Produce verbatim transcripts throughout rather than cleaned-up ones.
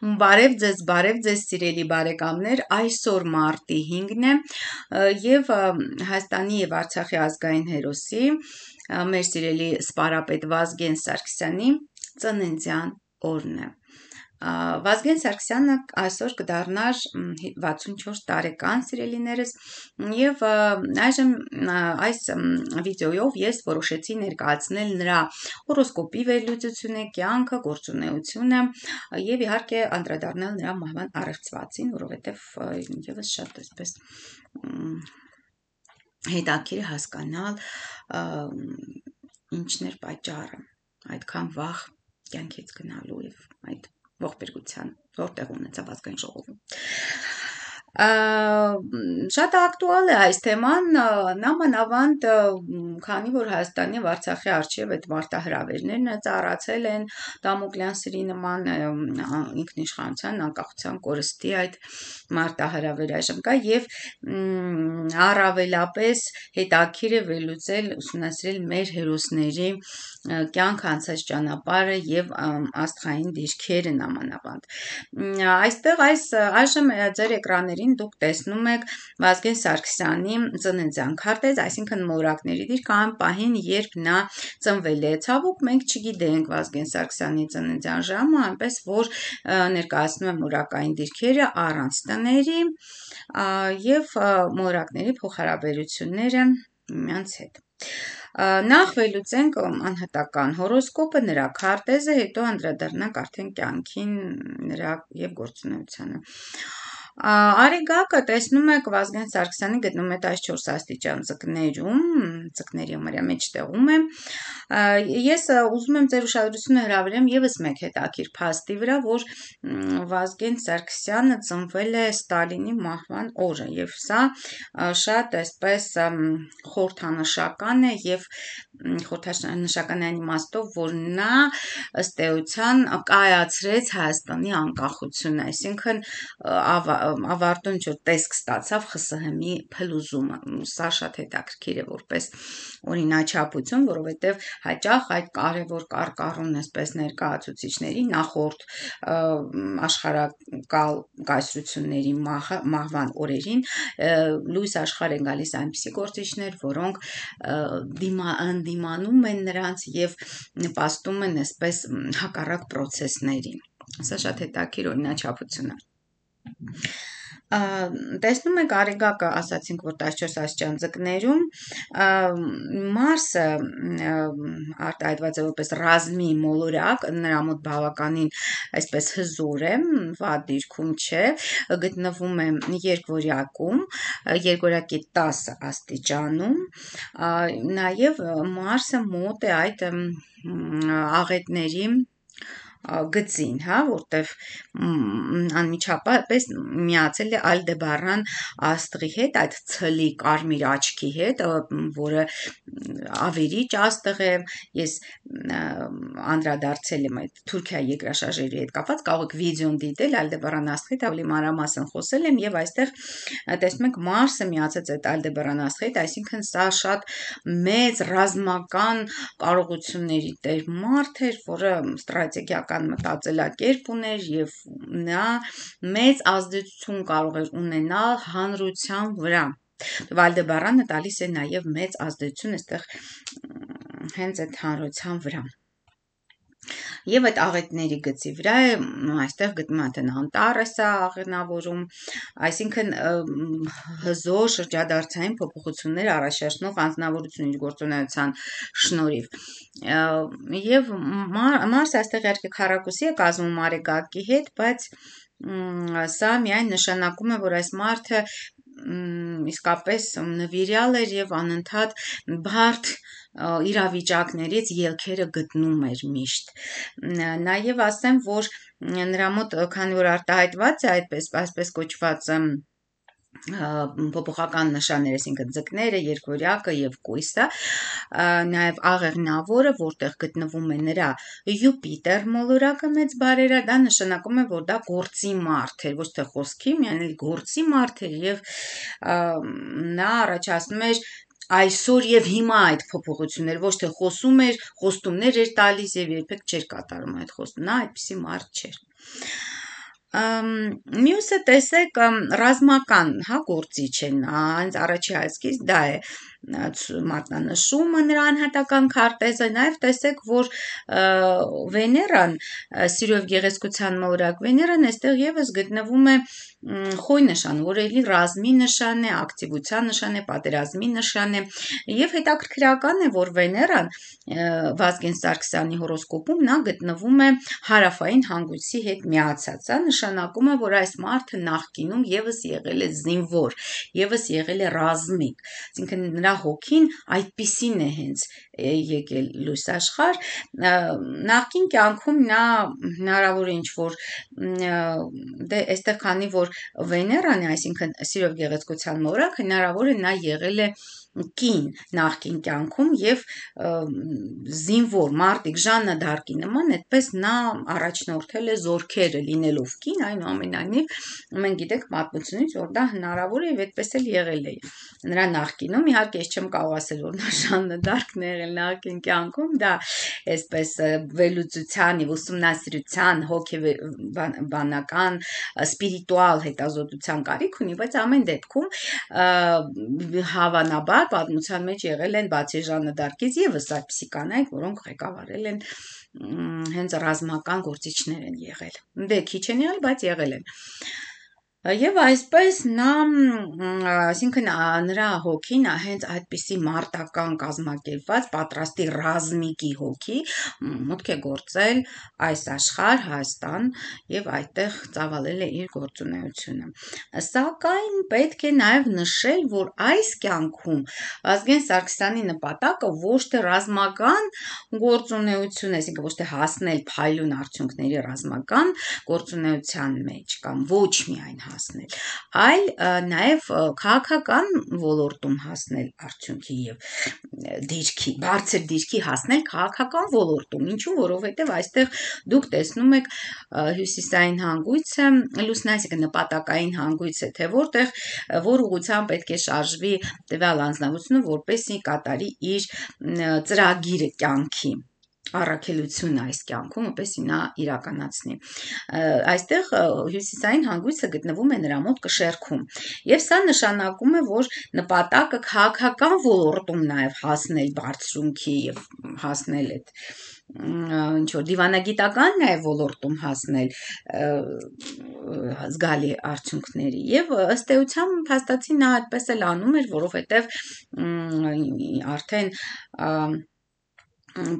Բարև ձեզ, բարև ձեզ սիրելի բարեկամներ, այսօր մարտի հինգն է և Հայաստանի և Արցախի ազգային հերոսի մեր սիրելի սպարապետ Վազգեն Սարգսյանի ծննդյան օրն է։ Վազգեն Սարգսյանը այսօր կդառնար վաթսունչորս տարեկան, սիրելիներս, և այժմ այս վիդեոյով ես որոշեցի ներկայացնել նրա հորոսկոպի վերլուծությունը, կյանքը, գործունեությունը և իհարկե անդրադառնալ նրա մահվան առեղծվածին, որովհետև ևս շատ այսպես հետաքրքիր է հասկանալ ինչն էր պատճառը այդքան վաղ կյանքից գնալու և այդ ողբերգության որտեղ ունեցավ ազգային ժողովում։ Շատ ակտուալ է այս թեման, նամանավանդ քանի որ Հայաստանի և Արցախի առջև այդ մարտահրավերներն ծառացել են Դամոկլյան սրի նման, ինքնիշխանության, անկախության կորստի այդ մարտահրավերը այժմ կա և առավելապես հետաքրքիր է վերլուծել, ուսումնասիրել մեր հերոսների կյանքը, անցած ճանապարհը և աստղային դիրքերը նամանավանդ։ Այստեղ այս այժմ ձեր էկրաններին դուք տեսնում եք Վազգեն Սարգսյանի ծննդյան քարտեզ, այսինքն մորակների դիրք այն պահին, երբ նա ծնվել է։ Ցավոք մենք չգիտենք Վազգեն Սարգսյանի ծննդյան ժամը, այնպես որ ներկայացնում եմ մորակային դիրքերը առանց տների և մորակների փոխհարաբերությունները միմյանց հետ։ Նախ վերլուծենք անհատական հորոսկոպը, նրա քարտեզը, հետո անդրադառնանք արդեն կյանքին, նրա և գործունեությանը։ Արեգակը տեսնում եք Վազգեն Սարգսյանի գտնվում է տասնչորս աստիճան ձկներում, ձկների համարյա մեջտեղում է։ Ես ուզում եմ ձեր ուշադրությունը հրավիրեմ ևս մեկ հետաքրքիր փաստի վրա, որ Վազգեն Սարգսյանը ծնվել է Ստալինի մահվան օրը և սա շատ այսպես խորհրդանշական է և խորհրդանշական է այն իմաստով, որ նա ըստ էության կայացրեց Հայաստանի անկախությունը, այսինքն ավարտուն ինչ-որ տեսք ստացավ ԽՍՀՄ-ի փլուզումը։ Սա շատ հետաքրքիր է որպես օրինաչափություն, որովհետև հաճախ այդ կարևոր կարկառուն այսպես ներկայացուցիչների նախորդ աշխարհակալ կայսրությունների մահվան օրերին լույս աշխարհ են գալիս այնպիսի գործիչներ, որոնք ընդդիմանում են նրանց և նպաստում են այսպես հակառակ պրոցեսներին։ Սա շատ հետաքրքիր օրինաչափություն է։ Տեսնում եք Արեգակը, ասացինք, որ տասնչորս աստիճան ձկներում, Մարսը արտահայտված է որպես ռազմի մոլորակ, նրա մոտ բավականին այսպես հզոր է, վատ դիրքում չէ, գտնվում է երկվորյակում, երկվորյակի տասը աստիճանում, նաև Մարսը մոտ է այդ աղետների գծին, որտև անմիջապես միացել է Ալդեբարան աստղի հետ, այդ ցլի կարմիր աչքի հետ, որը ավերիչ աստղ է, ես անդրադարձել եմ այդ Թուրքիայի երկրաշարժերի հետ կապված, կարող եք վիդեոն դիտել Ալդեբարան աստղի հետ, ավելի մանրամասն խոսել եմ և այստեղ տեսնում եք Մարսը միացած այդ Ալդեբարան աստղի հետ, այսինքն սա շատ մեծ ռազմական կարողությունների տեր մարդ էր, որը ստրատեգիական մտածելակերպ ուներ և նա մեծ ազդեցություն կարող էր ունենալ հանրության վրա։ Ալդեբարանը տալիս է նաև մեծ ազդեցություն այստեղ հենց այդ հանրության վրա։ Եվ այդ աղետների գծի վրա է, այստեղ գտնվում է արդեն Անտառեսը աղենավորում, այսինքն հզոր շրջադարձային փոփոխություններ առաջացնող անձնավորություն իր գործունեության շնորհիվ։ Եվ Մարսը այստեղ իհարկե քառակուսի է կազմում Արեգակի հետ, բայց սա միայն նշանակում է, որ այս մարդը իսկապես նվիրյալ էր և անընդհատ բարդ իրավիճակներից ելքերը գտնում էր միշտ։ Նաև ասեմ, որ նրա մոտ, քանի որ արտահայտված է այդպես այսպես կոչված փոփոխական նշաններ, այսինքն ձկները, երկվորյակը և կույսը, նաև աղեղնավորը, որտեղ գտնվում է նրա Յուպիտեր մոլորակը մեծ բարերը, դա նշանակում է, որ դա գործի մարդ էր, ոչ թե խոսքի, միայն էլ գործի մարդ էր և նա առաջացնում էր այսօր և հիմա այդ փոփոխությունները, ոչ թե խոսում էր, խոստումներ էր տալիս և երբեք չէր կատարում այդ խոստումը, նա այդպիսի մարդ չէր։ Մյուսը տեսեք ռազմական, հա, գործիչ են, հենց առաջի հայացքից դա է մատնանշումը նրա անհատական քարտեզը, նաև տեսեք, որ Վեներան, սիրո եւ գեղեցկության մոլորակ Վեներան այստեղ եւս գտնվում է խոյ նշան, որը էլի ռազմի նշան է, ակտիվության նշան է, պատերազմի նշան է, եւ հետաքրքրական է, որ Վեներան Վազգեն Սարգսյանի հորոսկոպում նա գտնվում է հարավային հանգույցի հետ միացած, դա նշանակում է, որ այս մարդը նախկինում եւս եղել է զինվոր, եւս եղել է ռազմիկ, այսինքն նրա հոգին այդպիսին է հենց եկել լույս աշխարհ, նախկին կյանքում նա հնարավոր է ինչ-որ դե այստեղ քանի որ Վեներան է, այսինքն սիրո գեղեցկության մոլորակ, հնարավոր է նա եղել է կին նախկին կյանքում եւ զինվոր մարտիկ Ժաննա դ'Արկի նման, այդպես նա առաջնորդել է զորքերը լինելով կին, այնուամենայնիվ մենք գիտենք պատմությունից, որ դա հնարավոր է եւ այդպես էլ եղել է նրա նախկինում, իհարկե ես չեմ կարող ասել, որ նա Ժաննա դ'Արկն է եղել նախկին կյանքում, դա այսպես վերլուծության եւ ուսումնասիրության հոգեբանական սպիրիտուալ հետազոտության կարիք ունի, բայց ամեն դեպքում հավանաբար պատմության մեջ եղել են բացի Ժաննա դ'Արկից եւս այդպիսի կանայք, որոնք ղեկավարել են հենց ռազմական գործիչներ են եղել։ Դե քիչ են եղել, բայց եղել են։ Եվ այսպես նա, այսինքն նրա հոգին հենց այդպիսի մարտական կազմակերպված պատրաստի ռազմիկի հոգի մուտք է գործել այս աշխարհ Հայաստան եւ այդտեղ ծավալել է իր գործունեությունը։ Սակայն պետք է նաեւ նշել, որ այս կյանքում Վազգեն Սարգսյանի նպատակը ոչ թե ռազմական գործունեություն, այսինքն ոչ թե հասնել փայլուն արդյունքների ռազմական գործունեության մեջ կամ ոչ միայն հասնել, այլ նաև քաղաքական ոլորտում հասնել արդյունքի եւ դիրքի, բարձր դիրքի հասնել քաղաքական ոլորտում, ինչու, որովհետեւ այստեղ դուք տեսնում եք հյուսիսային հանգույցը, լուսնային, այսինքն նպատակային հանգույց է, թե որտեղ որ ուղղությամբ պետք է շարժվի տվյալ անձնավորությունը, որպեսզի կատարի իր ծրագիրը կյանքի առաքելությունը այս կյանքում, որպեսզի նա իրականացնի։ Այստեղ հյուսիսային հանգույցը գտնվում է նրա մոտ կշեռքում, եւ սա նշանակում է, որ նպատակը քաղաքական ոլորտում նաեւ հասնել բարձրունքի եւ հասնել այդ ինչ որ դիվանագիտական նաև ոլորտում հասնել զգալի արդյունքների եւ ըստ էության փաստացի նա այդպես էլ անում էր, որովհետեւ արդեն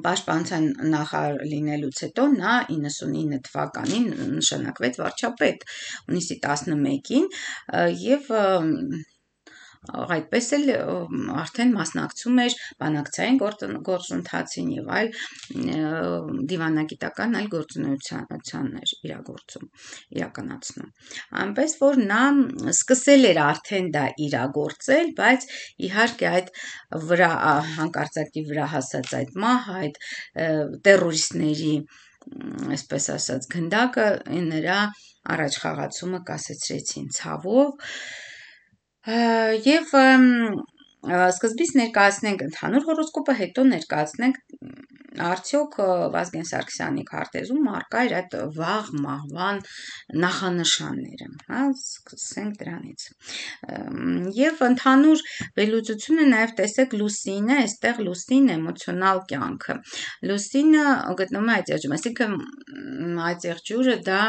Պաշտպանության նախարար լինելուց հետո նա իննսունինը թվականին նշանակվեց վարչապետ հունիսի տասնմեկին եւ այդպես էլ արդեն մասնակցում էր բանակցային գործընթացին եւ այլ դիվանագիտական այլ գործունեություններ իրագործում իրականացնում այնպես որ նա սկսել էր արդեն դա իրագործել, բայց իհարկե այդ վրա հանկարծակի վրա հասած այդ մահ այդ տերորիստների այսպես ասած գնդակը նրա առաջխաղացումը կասեցրեցին ցավով եւ սկզբից ներկայացնենք ընդհանուր հորոսկոպը, հետո ներկայացնենք արդյոք Վազգեն Սարգսյանի քարտեզում առկա էր այդ վաղ մահվան նախանշանները, հա, սկսենք դրանից։ Եվ ընդհանուր վերլուծությունը նաև տեսեք լուսինը, այստեղ լուսին էմոցիոնալ կյանքը։ Լուսինը գտնվում է այդ եղջյուրում, այսինքն այդ եղջյուրը դա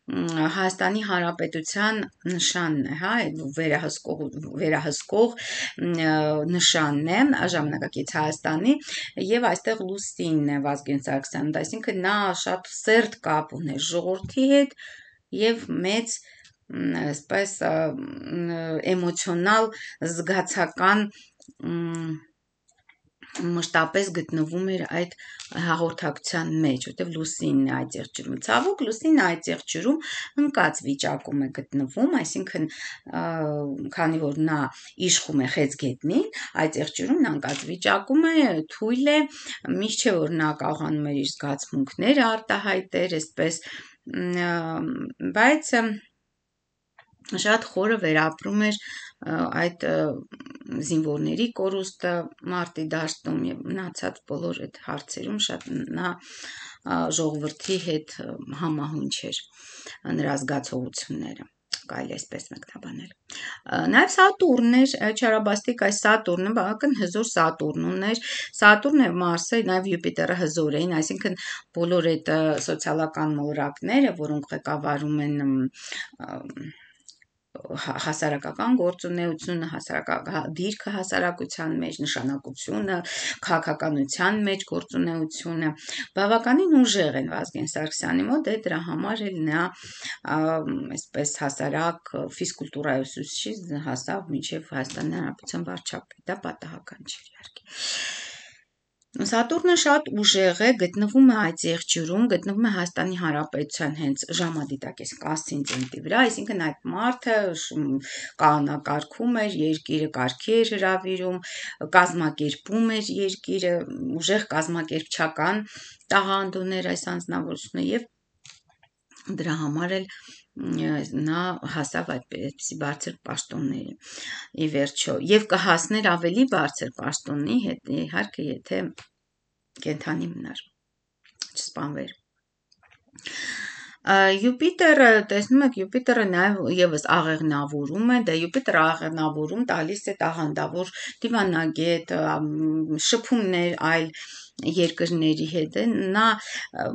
Հայաստանի Հանրապետության նշանն է, հա, վերահսկող վերահսկող նշանն է ժամանակակից Հայաստանի եւ այստեղ լուսինն է Վազգեն Սարգսյանը, այսինքն նա շատ սերտ կապ ուներ ժողովրդի հետ եւ մեծ այսպես էմոցիոնալ զգացական մշտապես գտնվում էր այդ հաղորդակցության մեջ, որտեղ լուսինն է այդ եղջյուրում։ Ցավոք լուսինը այդ եղջյուրում ընկած վիճակում է գտնվում, այսինքն քանի որ նա իշխում է խեցգետնին, այդ եղջյուրում նա ընկած վիճակում է, թույլ է, միշտ չէ որ նա կարողանում էր իր զգացմունքները արտահայտել, այսպես, բայց շատ խորը վերապրում էր այդ զինվորների կորուստը մարտի դաշտում եւ մնացած բոլոր այդ հարցերում շատ նա ժողովրդի հետ համահունչ էր նրա զգացողությունները, կարելի է այսպես մեկնաբանել։ Նաև Սատուրնն էր, չարաբաստիկ այս Սատուրնը բավական հզոր Սատուրն ուներ, Սատուրնը և Մարսը, նաև Յուպիտերը հզոր էին, այսինքն բոլոր այդ սոցիալական մոլորակները, որոնք ղեկավարում են հասարակական գործունեությունը, հասարակական դիրքը հասարակության մեջ, նշանակությունը, քաղաքականության մեջ գործունեությունը, բավականին ուժեղ են Վազգեն Սարգսյանի մոտ, դե դրա համար էլ նա այսպես հասարակ ֆիզկուլտուրայի ուսուցիչից հասավ մինչև Հայաստանի Հանրապետության վարչապետ, դա պատահական չէր իհարկե։ Սատուրնը շատ ուժեղ է, գտնվում է այդ եղջյուրում, գտնվում է Հայաստանի Հանրապետության հենց ժամադիտակես կասցենտրի վրա, այսինքն այդ մարդը կանոնակարգում էր երկիրը, կարգի էր հրավիրում, կազմակերպում էր երկիրը, ուժեղ կազմակերպչական տաղանդ ուներ այս անձնավորությունը եւ դրա համար էլ նա հասավ այդպիսի բարձր պաշտոնների ի վերջո եւ կհասներ ավելի բարձր պաշտոնի հետ իհարկե եթե կենթանի մնար չսպանվեր Յուպիտերը, տեսնում եք, Յուպիտերը նաև եւս աղեղնավորում է, դա Յուպիտերը աղեղնավորում տալիս է տաղանդավոր դիվանագետ, շփումներ այլ երկրների հետ է, նա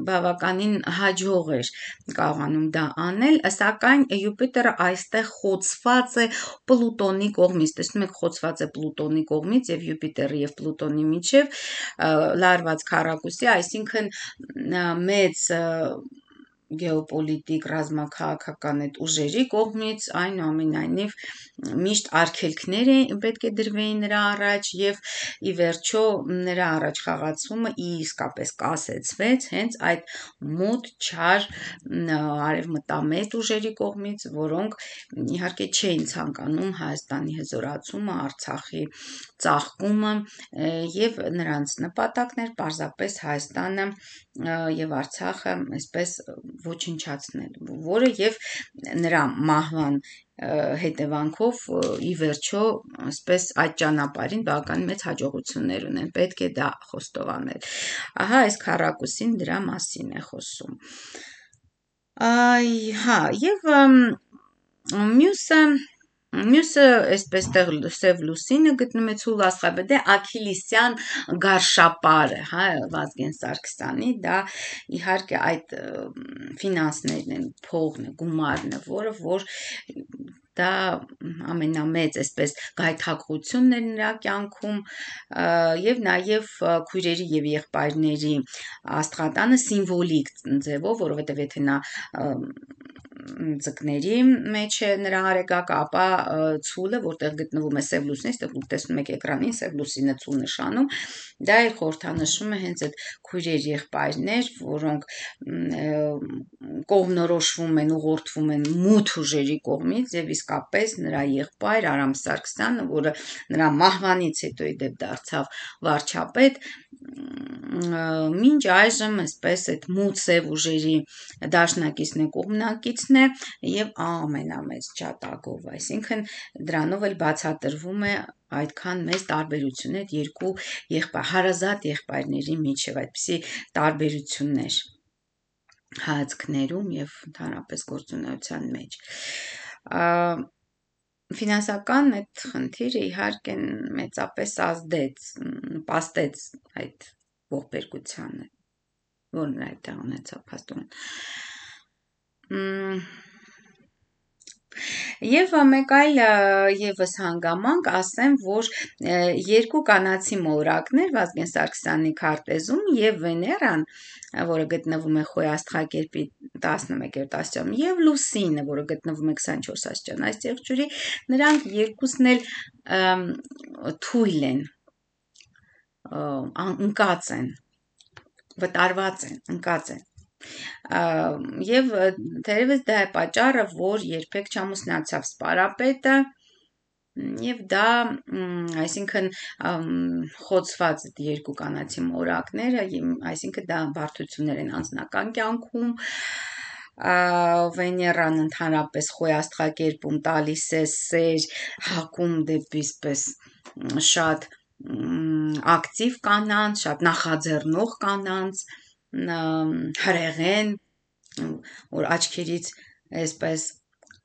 բավականին հաջող էր կարողանում դա անել, սակայն Յուպիտերը այստեղ խոցված է Պլուտոնի կողմից, տեսնում եք, խոցված է Պլուտոնի կողմից եւ Յուպիտերի եւ Պլուտոնի միջև լարված քառակուսի, այսինքն մեծ գեոպոլիտիկ ռազմաքաղաքական այդ ուժերի կողմից այնուամենայնիվ միշտ արգելքներ պետք է դրվեին նրա առաջ եւ ի վերջո նրա առաջ խաղացումը իսկապես կասեցվեց հենց այդ մոտ չար արևմտամետ ուժերի կողմից, որոնք իհարկե չէին ցանկանում Հայաստանի հզորացումը, Արցախի ծաղկումը եւ նրանց նպատակն էր պարզապես Հայաստանը եւ Արցախը այսպես ոչնչացնել, որը եւ նրա մահվան հետևանքով ի վերջո այսպես այդ ճանապարհին բավական մեծ հաջողություններ ունեն, պետք է դա խոստովանել։ Ահա այս քառակուսին դրա մասին է խոսում։ Այ, հա, եւ մյուսը Մյուսը այսպես տեղ Սև Լուսինը գտնում է ցուլ աստղաբետ է Աքիլիսյան գարշապարը, հա, Վազգեն Սարգսյանի, դա իհարկե այդ ֆինանսներն են, փողն է, գումարն է, որը որ դա ամենամեծ այսպես գայթակղությունն էր նրա կյանքում եւ նաեւ քույրերի եւ եղբայրների աստղատանը սիմվոլիկ ձևով, որովհետեւ եթե նա ձկների մեջ է նրա արեգակը, ապա ցուլը, որտեղ գտնվում է Սև Լուսինը, այստեղ դուք տեսնում եք էկրանին Սև Լուսինը ցուլ նշանում, դա էլ խորհրդանշում է հենց այդ քույրեր եղբայրներ, որոնք կողմնորոշվում են, ուղղորդվում են մութ ուժերի կողմից եւ իսկապես նրա եղբայր Արամ Սարգսյանը, որը նրա մահվանից հետո ի դեպ դարձավ վարչապետ, մինչ այժմ այսպես այդ մութ սև ուժերի դաշնակիցն է, կողմնակիցն է եւ ամենամեծ ջատագով, այսինքն դրանով էլ բացատրվում է այդքան մեծ տարբերությունը այդ երկու եղբայր, հարազատ եղբայրների միջև այդպիսի տարբերություններ հայացքներում եւ ընդհանրապես գործունեության մեջ։ Ֆինանսական այդ խնդիրը իհարկե մեծապես ազդեց, նպաստեց այդ ողբերգությանը, որն այդտեղ ունեցավ փաստորեն։ Եվ մեկ այլ եւս հանգամանք ասեմ, որ երկու կանացի մոլորակներ Վազգեն Սարգսյանի քարտեզում եւ Վեներան, որը գտնվում է Խոյ աստղակերպի տասնմեկերորդ աստիճանում, եւ Լուսինը, որը գտնվում է քսանչորս աստիճան այս եղջյուրի, նրանք երկուսն էլ թույլ են, ընկած են, վտարված են, ընկած են։ Եվ թերևս դա է պատճառը, որ երբեք չամուսնացավ սպարապետը եւ դա, այսինքն խոցված երկու կանացի մորակները, այսինքն դա բարդություններ են անձնական կյանքում, Վեներան ընդհանրապես Խոյ աստղակերպում տալիս է սեր, հակում դեպի պես շատ ակտիվ կանանց, շատ նախաձեռնող կանանց, հրեղեն, որ աչքերից այսպես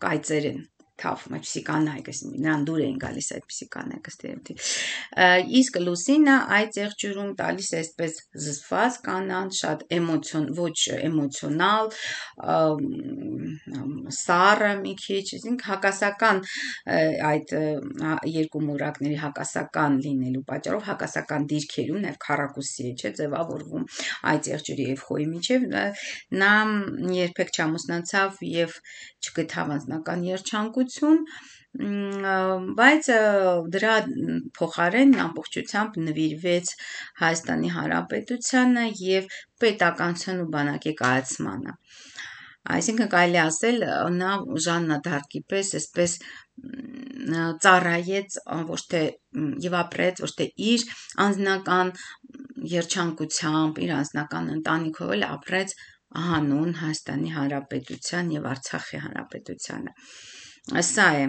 կայծեր են թափում, այդպիսի կանայք, նրան դուր էին գալիս այդպիսի կանայք ըստ երևույթի։ Իսկ լուսինը այդ եղջյուրում տալիս է այսպես զսպված կանանց, շատ էմոցիոն, ոչ էմոցիոնալ, սառը մի քիչ, այսինքն հակասական այդ երկու մորակների հակասական լինելու պատճառով հակասական դիրքերում, նաև քառակուսի է, չէ, ձևավորվում այդ եղջյուրի եւ խոյի միջև, նա երբեք չամուսնացավ եւ չգտավ անձնական երջանկություն, բայց դրա փոխարեն ամբողջությամբ նվիրվեց Հայաստանի Հանրապետությանը եւ պետականության ու բանակի կայացմանը։ Այսինքն կարելի ասել նա Ժաննա Դարկի պես այսպես ծառայեց ոչ թե եւ ապրեց ոչ թե իր անձնական երջանկությամբ, իր անձնական ընտանիքով, էլ ապրեց հանուն Հայաստանի Հանրապետության եւ Արցախի Հանրապետությանը։ Սա է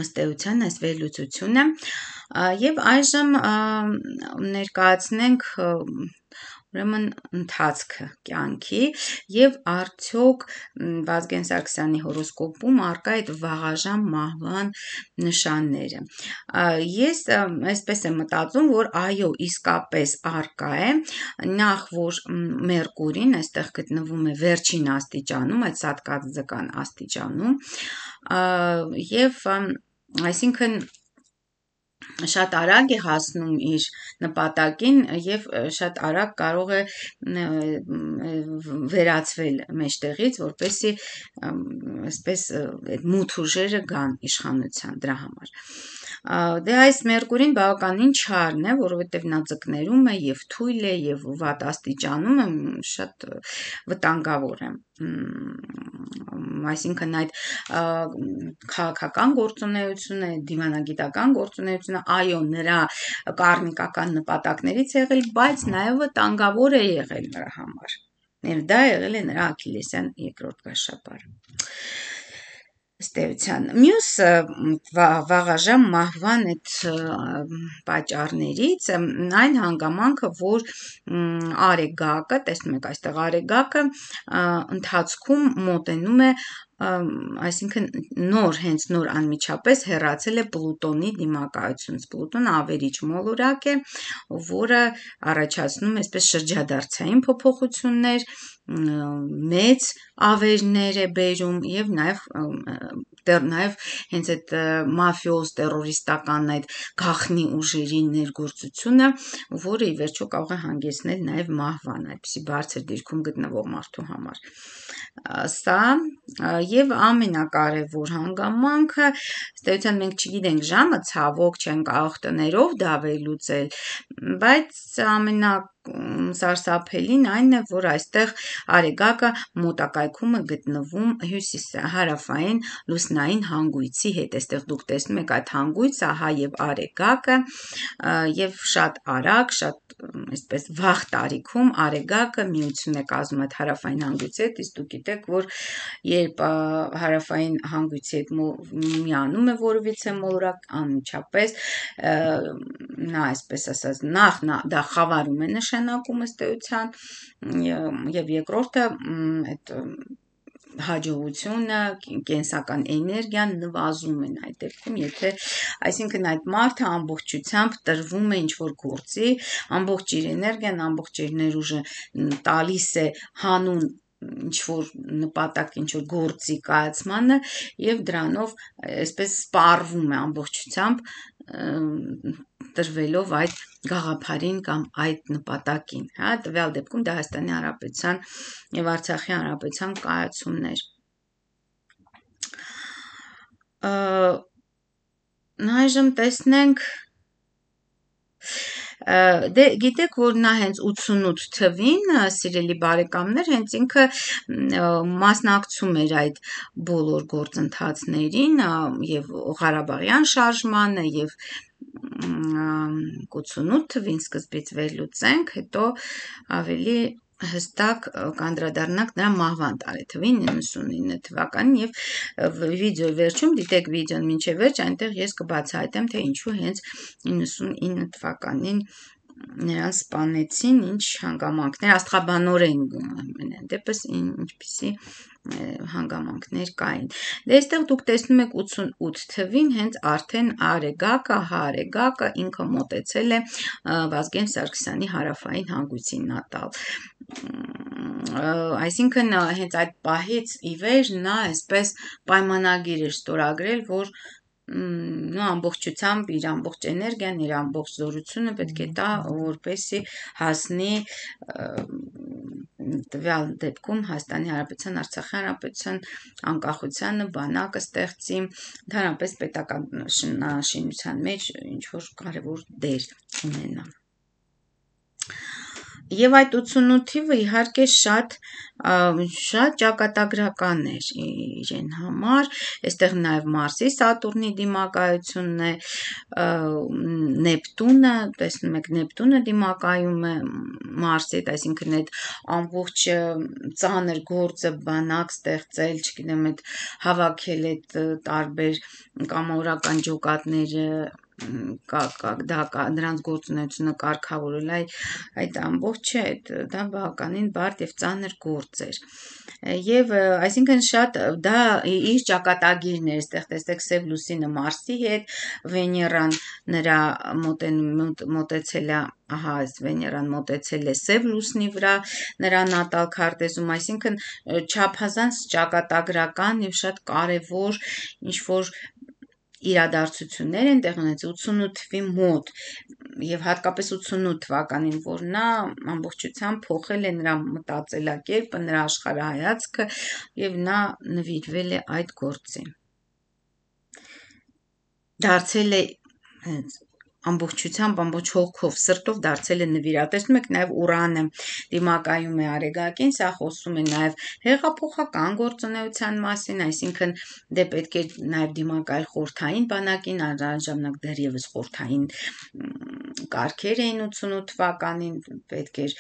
ըստ էության այս վերլուծությունը եւ այժմ ներկայացնենք ուրեմն ընթացքը կյանքի եւ արդյոք Վազգեն Սարգսյանի հորոսկոպում առկա այդ վաղաժամ մահվան նշանները։ Ես այսպես եմ մտածում, որ այո, իսկապես առկա է, նախ որ Մերկուրին այստեղ գտնվում է վերջին աստիճանում, այդ սատկածձկան աստիճանում, եւ այսինքն շատ արագ է հասնում իր նպատակին եւ շատ արագ կարող է վերածվել մեջտեղից, որպեսզի այսպես այդ մութ ուժերը գան իշխանության դրա համար։ Դե այս Մերկուրին բավականին չարն է, որովհետև նա ձկներում է եւ թույլ է եւ վատ աստիճանում է, շատ վտանգավոր է։ Այսինքն այդ քաղաքական գործունեությունը, դիվանագիտական գործունեությունը, այո, նրա կարմիկական նպատակներից է եղել, բայց նաեւ վտանգավոր է եղել նրա համար։ Եվ դա եղել է նրա Աքիլեսյան երկրորդ գաշապարը։ Ըստ էության մյուս վաղաժամ մահվան այդ պատճառներից այն հանգամանքը, որ Արեգակը, տեսնում եք այստեղ Արեգակը ընթացքում մոտենում է, այսինքն նոր, հենց նոր անմիջապես հեռացել է Պլուտոնի դիմակայությունից։ Պլուտոնը ավերիչ մոլորակ է, որը առաջացնում է այսպես շրջադարձային փոփոխություններ, մեծ ավերներ է բերում եւ նաեւ նաեւ հենց այդ մաֆիոզ տերորիստական այդ գաղտնի ուժերի ներգործությունը, որը ի վերջո կարող է հանգեցնել նաեւ մահվան, այդպիսի բարձր դիրքում գտնվող մարդու համար։ Սա եւ ամենակարևոր հանգամանքը, ըստ էության մենք չգիտենք ժամը, ցավոք չեն կարող տներով դա վերլուծել, բայց ամենա սարսափելին այն է, որ այստեղ Արեգակը մոտակայքում է գտնվում հյուսիս հարավային լուսնային հանգույցի հետ։ Այստեղ դուք տեսնում եք այդ հանգույցը, ահա եւ Արեգակը, եւ շատ արագ, շատ այսպես վաղ տարիքում Արեգակը միություն է կազմում այդ հարավային հանգույցի հետ, իսկ դուք գիտեք, որ երբ հարավային հանգույցի հետ միանում է որևիցե մոլորակ, անմիջապես նա այսպես ասած նախ նա դա խավարում է նշանակում ըստ էության, եւ երկրորդը այդ հաջողությունը, կենսական էներգիան նվազում են այդ դեպքում, եթե այսինքն այդ մարդը ամբողջությամբ տրվում է ինչ-որ գործի, ամբողջ իր էներգիան, ամբողջ իր ներուժը տալիս է հանուն ինչ-որ նպատակ, ինչ-որ գործի կայացմանը եւ դրանով այսպես սպառվում է ամբողջությամբ տրվելով այդ գաղափարին կամ այդ նպատակին, հա, տվյալ դեպքում դա Հայաստանի Հանրապետության եւ Արցախի Հանրապետության կայացումներ։ Այժմ տեսնենք դե գիտեք, որ նա հենց ութսունութ թվին, սիրելի բարեկամներ, հենց ինքը մասնակցում էր այդ բոլոր գործընթացներին եւ Ղարաբաղյան շարժմանը եւ ութսունութ թվին սկզբից վերլուծենք, հետո ավելի հստակ կանդրադառնանք նրա մահվան տարեթվին իննսունինը թվականին եւ վիդեոյի վերջում դիտեք վիդեոն մինչեւ վերջ, այնտեղ ես կբացահայտեմ, թե ինչու հենց իննսունինը թվականին նրան սպանեցին, ինչ հանգամանքներ, աստղաբանորեն ամենայն դեպս ինչպիսի հանգամանքներ կային։ Դե այստեղ դուք տեսնում եք ութսունութ թվին հենց արդեն Արեգակը, Հարեգակը ինքը մոտեցել է Վազգեն Սարգսյանի հարավային հանգույցին Նատալ։ Այսինքն հենց այդ պահից ի վեր նա այսպես պայմանագիր էր ստորագրել, որ նո ամբողջությամբ իր ամբողջ էներգիան, իր ամբողջ զորությունը պետք է տա, որպեսզի հասնի տվյալ դեպքում Հայաստանի Հանրապետության, Արցախի Հանրապետության անկախությանը, բանակը ստեղծի, ընդհանրապես պետական շինության մեջ ինչ որ կարևոր դեր ունենա։ Եվ այդ ութսունութ թիվը իհարկե շատ շատ ճակատագրական էր իրեն համար, այստեղ նաև Մարսի Սատուրնի դիմակայությունն է, Նեպտունը, տեսնում եք Նեպտունը դիմակայում է Մարսի հետ, այսինքն այդ ամբողջ ծանր գործը բանակ ստեղծել, չգիտեմ, այդ հավաքել այդ տարբեր կամավորական ջոկատները դա նրանց գործունեությունը կարգավորել, այդ ամբողջը դա բավականին բարդ եւ ծանր գործ էր։ Եվ այսինքն շատ դա իր ճակատագիրն էր, այստեղ տեսեք Սև լուսինը Մարսի հետ, Վեներան նրա մոտեցել է, ահա այս Վեներան մոտեցել է Սև լուսնի վրա նրա նատալ քարտեզում, այսինքն չափազանց ճակատագրական եւ շատ կարեւոր ինչ որ իրադարձություններ են տեղ ունեցել ութսունութ թվի մոտ եւ հատկապես ութսունութ թվականին, որ նա ամբողջությամբ փոխել է նրա մտածելակերպը, նրա աշխարհայացքը եւ նա նվիրվել է այդ գործին։ Դարձել է ամբողջությամբ, ամբողջ հոգով, սրտով դարձել է նվիրյալ։ Տեսնում եք նաև Ուրանը դիմակայում է Արեգակին, սա խոսում է նաև հեղափոխական գործունեության մասին, այսինքն դե պետք է նաև դիմակայել խորհրդային բանակին, այն ժամանակ դեռևս խորհրդային կարգեր էին ութսունութ թվականին, պետք էր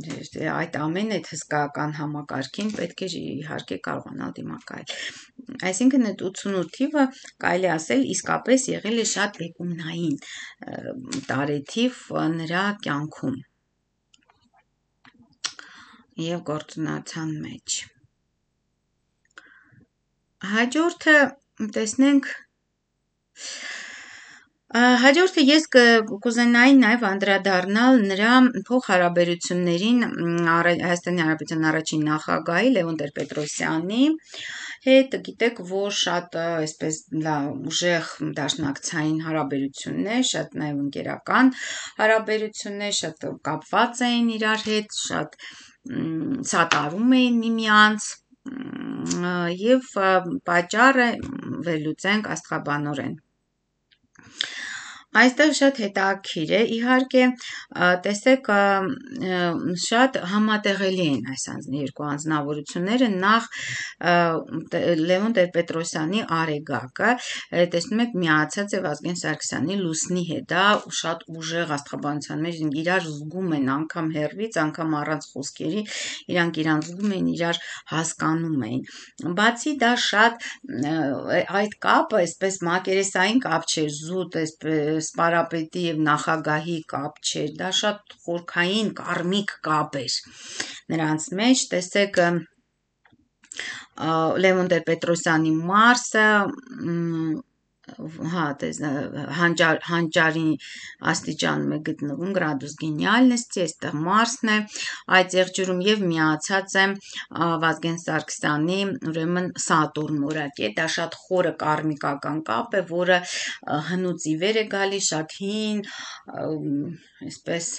այդ ամեն այդ հսկայական համակարգին պետք էր իհարկե կարողանալ դիմակայել։ Այսինքն այդ ութսունութ թիվը կարելի ասել իսկապես եղել է շատ բեկումնային տարեթիվ նրա կյանքում եւ գործունեության մեջ։ Հաջորդը տեսնենք Հաջորդը ես կուզենայի նաև անդրադառնալ նրա փոխհարաբերություններին Հայաստանի Հանրապետության առաջին նախագահի Լևոն Տեր-Պետրոսյանի հետ, գիտեք, որ շատ այսպես ուժեղ դաշնակցային հարաբերություններ, շատ նաև ընկերական հարաբերություններ, շատ կապված էին իրար հետ, շատ սատարում էին միմյանց եւ պատճառը վերլուծենք աստղաբանորեն։ Այստեղ շատ հետաքրքիր է, իհարկե, տեսեք, շատ համատեղելի են այս երկու անձնավորությունները, նախ Լևոն Տեր-Պետրոսյանի Արեգակը, տեսնում եք, միացած է Վազգեն Սարգսյանի Լուսնի հետ, դա շատ ուժեղ աստղաբանության մեջ իրար զգում են, անգամ հեռվից, անգամ առանց խոսքերի, իրանք իրան զգում են, իրար հասկանում էին։ Բացի դա շատ այդ կապը, այսպես մակերեսային կապ չէր, զուտ, այսպես սպարապետի եւ նախագահի կապ չէր, դա շատ խորքային կարմիկ կապ էր նրանց մեջ, տեսեք Լևոն Տեր-Պետրոսյանի Մարսը, հա, հանճար, հանճարի աստիճանում է գտնվում գրադուս գենիալնեստի, այստեղ Մարսն է, այդ եղջյուրում եւ միացած է Վազգեն Սարգսյանի, ուրեմն Սատուրն որակի, դա շատ խորը կարմիկական կապ է, որը հնուց ի վեր է գալիս, շատ հին, այսպես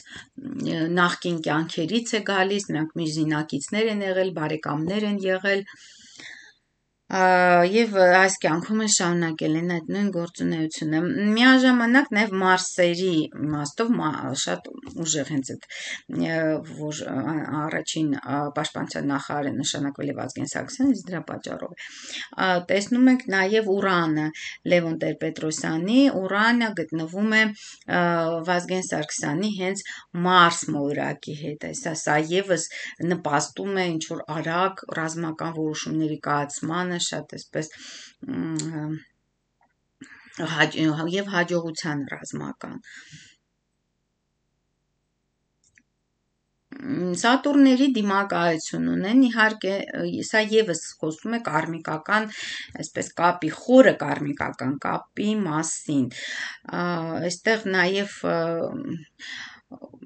նախկին կյանքերից է գալիս, նրանք մեր զինակիցներ են եղել, բարեկամներ են եղել եւ այս կյանքում է շարունակել են այդ նույն գործունեությունը։ Միաժամանակ նաև Մարսերի իմաստով շատ ուժեղ հենց այդ որ առաջին պաշտպանության նախարարը նշանակվել է Վազգեն Սարգսյանը, դրա պատճառով է։ Տեսնում ենք նաև Ուրանը Լևոն Տեր-Պետրոսյանի, Ուրանը գտնվում է Վազգեն Սարգսյանի հենց Մարս մոլորակի հետ, այսա սա եւս նպաստում է ինչ որ արագ ռազմական որոշումների կայացմանը, շատ այսպես եւ հաջողության ռազմական։ Սատուրների դիմակայություն ունեն, իհարկե սա եւս խոսում է կարմիկական, այսպես կապի, խորը կարմիկական կապի մասին, այստեղ նաեւ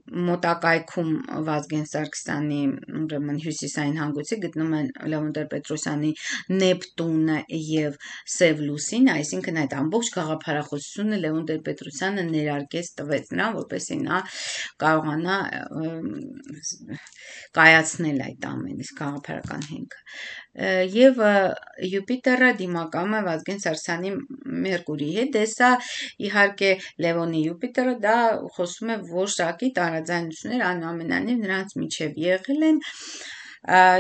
մոտակայքում Վազգեն Սարգսյանի ուրեմն հյուսիսային հանգույցի գտնում են Լևոն Տեր-Պետրոսյանի Նեպտունը եւ Սև լուսինը, այսինքն այդ ամբողջ գաղափարախոսությունը Լևոն Տեր-Պետրոսյանը ներարկեց տվեց նրան, որպեսզի նա կարողանա կայացնել այդ ամենը, իսկ գաղափարական հենքը։ Եվ Յուպիտերը դիմակայում է Վազգեն Սարգսյանի Մերկուրիի հետ, դե սա իհարկե Լևոնի Յուպիտերը դա խոսում է որոշակի տարաձայնություններ, այնուամենայնիվ նրանց միջև եղել են,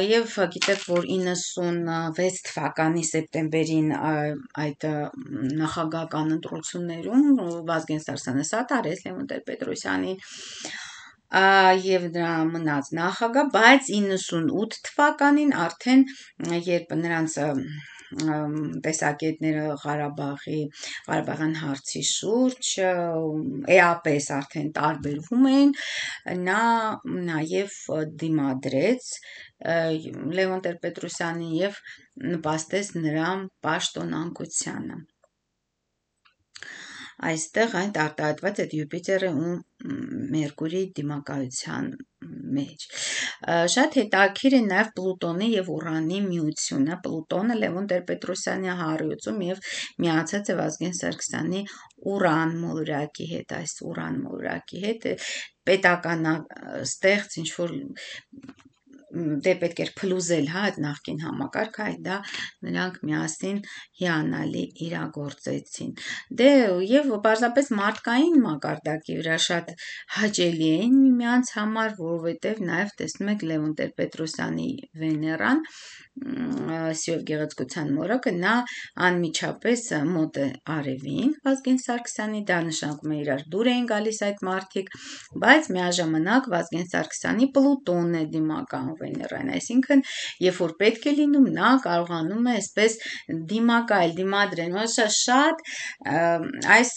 եւ գիտեք, որ իննսունվեց թվականի սեպտեմբերին այդ նախագահական ընտրություններում Վազգեն Սարգսյանը սատարեց Լևոն Տեր-Պետրոսյանին եւ դրա մնաց նախագահ, բայց իննսունութ թվականին արդեն երբ նրանց տեսակետները Ղարաբաղի Ղարաբաղյան հարցի շուրջ էապես արդեն տարբերվում էին, նա նաև դիմադրեց Լևոն Տեր-Պետրոսյանին եւ նպաստեց նրա պաշտոնանկությանը։ Այստեղ այն արտահայտված է Յուպիտերը ու Մերկուրիի դիմակայության մեջ։ Շատ հետաքրքիր է նաև Պլուտոնի եւ Ուրանի միությունը։ Պլուտոնը Լևոն Տեր-Պետրոսյանի հարույցում եւ միացած է Վազգեն Սարգսյանի Ուրան մոլորակի հետ, այս Ուրան մոլորակի հետ պետականաստեղծ ինչ որ դե պետք էր փլուզել հա այդ նախկին համակարգը, այդ դա նրանք միասին հիանալի իրագործեցին։ Դե եւ պարզապես մարդկային մակարդակի վրա շատ հաճելի էին միմյանց համար, որովհետեւ նաեւ տեսնում եք Լևոն Տեր-Պետրոսյանի Վեներան սիրով գեղեցկության մորակը նա անմիջապես մոտ է արևին Վազգեն Սարգսյանի, դա նշանակում է իրար դուր էին գալիս այդ մարդիկ, բայց միաժամանակ Վազգեն Սարգսյանի Պլուտոնն է դիմակայում Վեներային, այսինքն երբ որ պետք է լինում նա կարողանում է այսպես դիմակայել, դիմադրել, շատ այս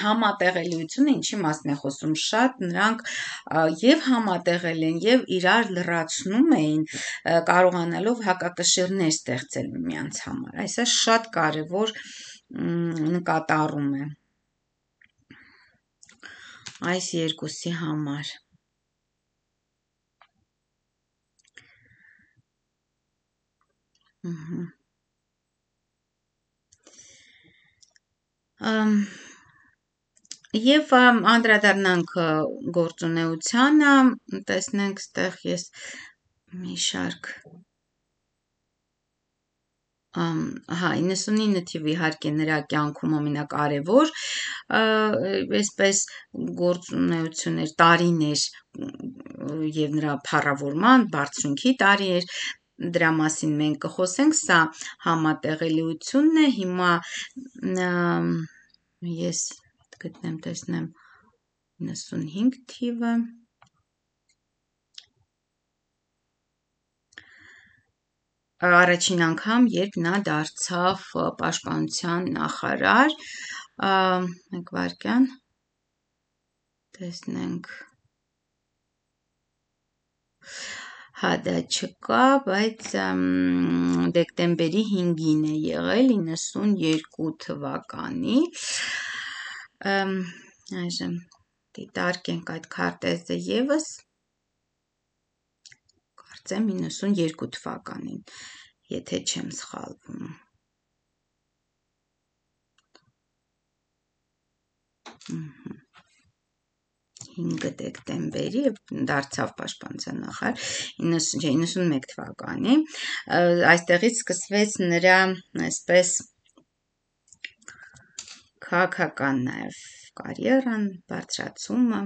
համատեղելիությունը ինչի մասին է խոսում, շատ նրանք եւ համատեղել են եւ իրար լրացնում էին, կարողանալով հակակշիռներ ստեղծել միմյանց համար, այսա շատ կարեւոր նկատառում է այս երկուսի համար։ Եվ անդրադառնանք գործունեությանը, տեսնենք ստեղ ես մի շարք հա իննսունինը թիվ իհարկե նրա կյանքում ամենակարևոր այսպես գործունեություններ տարիներ եւ նրա փառավորման բարձրունքի տարի էր, դրա մասին մենք կխոսենք, սա համատեղելիությունն է, հիմա ես գտնեմ, տեսնեմ իննսունհինգ թիվը առաջին անգամ, երբ նա դարձավ պաշտպանության նախարար, մեկ վայրկյան, տեսնենք, հա դա չկա, բայց դեկտեմբերի հինգին է եղել իննսունյերկու թվականի, այժմ դիտարկենք այդ քարտեզը եւս, կարծեմ իննսունյերկու թվականին, եթե չեմ սխալվում։ հինգ դեկտեմբերի դարձավ պաշտպանության նախարար իննսունմեկ թվականի, այստեղից սկսվեց նրա այսպես քաղաքական նաև կարիերան, բարձրացումը,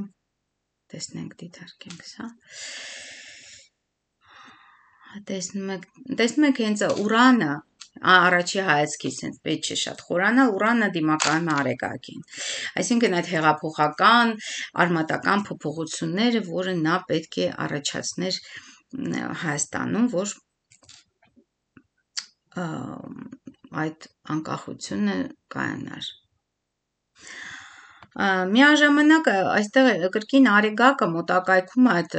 տեսնենք դիտարկենք սա, տեսնում եք, տեսնում եք հենց Ուրանը, առաջի հայացքից հենց պետք չէ շատ խորանալ, Ուրանը դիմակայում է Արեգակին, այսինքն այդ հեղափոխական, արմատական փոփոխությունները, որը նա պետք է առաջացներ Հայաստանում, որ այդ անկախությունը կայանար։ Միաժամանակ այստեղ կրկին Արեգակը մոտակայքում այդ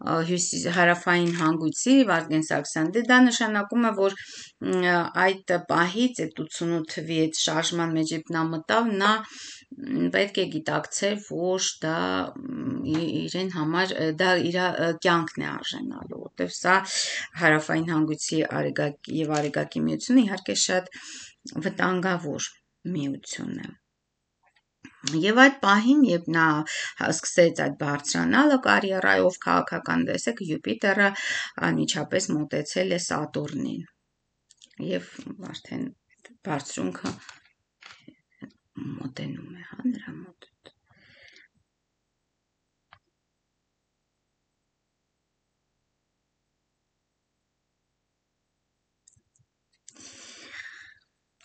հարավային հանգույցի Վազգեն Սարգսյան, դե դա նշանակում է, որ այդ պահից այդ ութսունութ թվի այդ շարժման մեջ երբ նա մտավ, նա պետք է գիտակցեր, որ դա իրեն համար դա իր կյանքն է արժանալու, որտեվ սա հարավային հանգույցի արեգակի եւ արեգակի միությունը իհարկե շատ վտանգավոր միություն է։ Եվ այդ պահին, երբ նա սկսեց այդ բարձրանալը կարիերայով քաղաքական, տեսեք, Յուպիտերը անմիջապես մոտեցել է Սատուրնին եւ արդեն բարձրունքը մոտենում է, հա, նրա մոտ։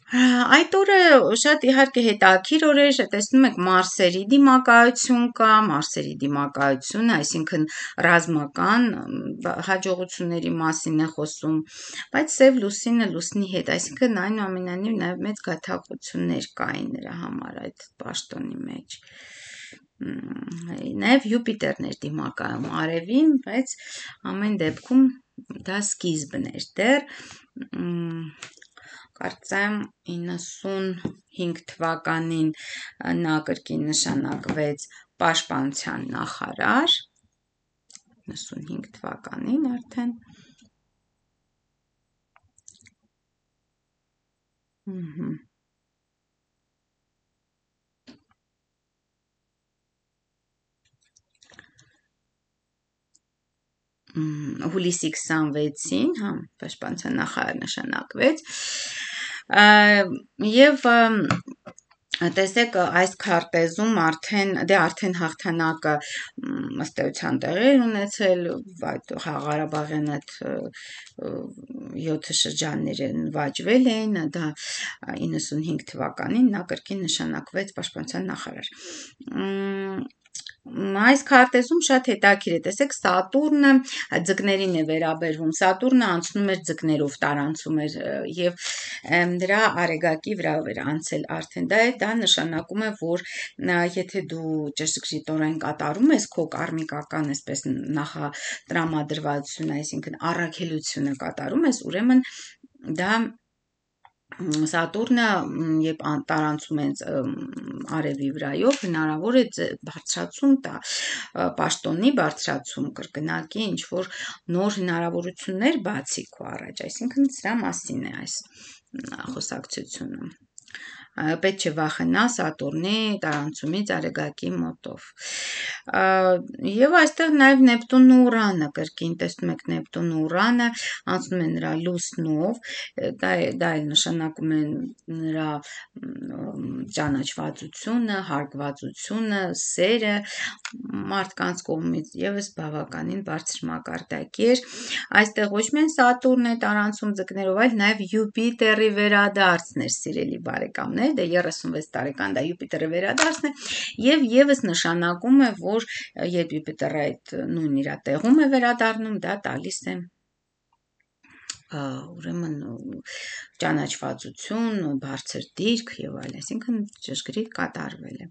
Այդ օրը շատ իհարկե հետաքրքիր օր էր, տեսնում եք Մարսերի դիմակայություն կա, Մարսերի դիմակայությունը, այսինքն ռազմական հաջողությունների մասին է խոսում, բայց Սև լուսինը լուսնի հետ, այսինքն այնուամենայնիվ նաև մեծ գայթակղություններ կային նրա համար այդ պաշտոնի մեջ։ Նաև Յուպիտերն էր դիմակայում արևին, բայց ամեն դեպքում դա սկիզբն էր դեռ կարծեմ իննսունհինգ թվականին նա կրկին նշանակվեց պաշտպանության նախարար, իննսունհինգ թվականին արդեն, հուլիսի քսանվեցին, հա, պաշտպանության նախարար նշանակվեց, եւ տեսեք այս քարտեզում արդեն դե արդեն հաղթանակը ըստ էության տեղի ունեցել, այդ Ղարաբաղյան այդ յոթ շրջանները նվաճվել էին, դա իննսունհինգ թվականին նա կրկին նշանակվեց պաշտպանության նախարար։ Այս քարտեզում շատ հետաքրքիր է, տեսեք, Սատուրնը ձկներին է վերաբերվում, Սատուրնը անցնում էր ձկներով, տարանցում էր եւ դրա արեգակի վրայով էր անցել արդեն, դա է, դա նշանակում է, որ եթե դու ճշգրիտորեն կատարում ես քո կարմիկական, այսպես նախատրամադրվածությունը, այսինքն առաքելությունը կատարում ես, ուրեմն դա Սատուրնը երբ տարանցում են արևի վրայով, հնարավոր է բարձրացում տա, պաշտոնի բարձրացում, կրկնակի ինչ-որ նոր հնարավորություններ բացի քո առաջ, այսինքն սրա մասին է այս խոսակցությունը։ Պետք չէ վախենա Սատուրնի տարանցումից արեգակի մոտով։ Եվ այստեղ նաև Նեպտունն ու Ուրանը, կրկին տեսնում եք Նեպտունն ու Ուրանը անցնում են նրա լուսնով, դա դա էլ նշանակում է նրա ճանաչվածությունը, հարգվածությունը, սերը մարդկանց կողմից եւս բավականին բարձր մակարդակի էր։ Այստեղ ոչ միայն Սատուրնն է տարանցում ձկներով, այլ նաև Յուպիտերի վերադարձն էր, սիրելի բարեկամներ, դե երեսունվեց տարեկան դա Յուպիտերի վերադարձն է եւ եւս նշանակում է, որ երբ Յուպիտերը այդ նույն իր տեղում է վերադառնում, դա տալիս է ուրեմն ճանաչվածություն, բարձր դիրք եւ այլ, այսինքն ճշգրիտ կատարվել է։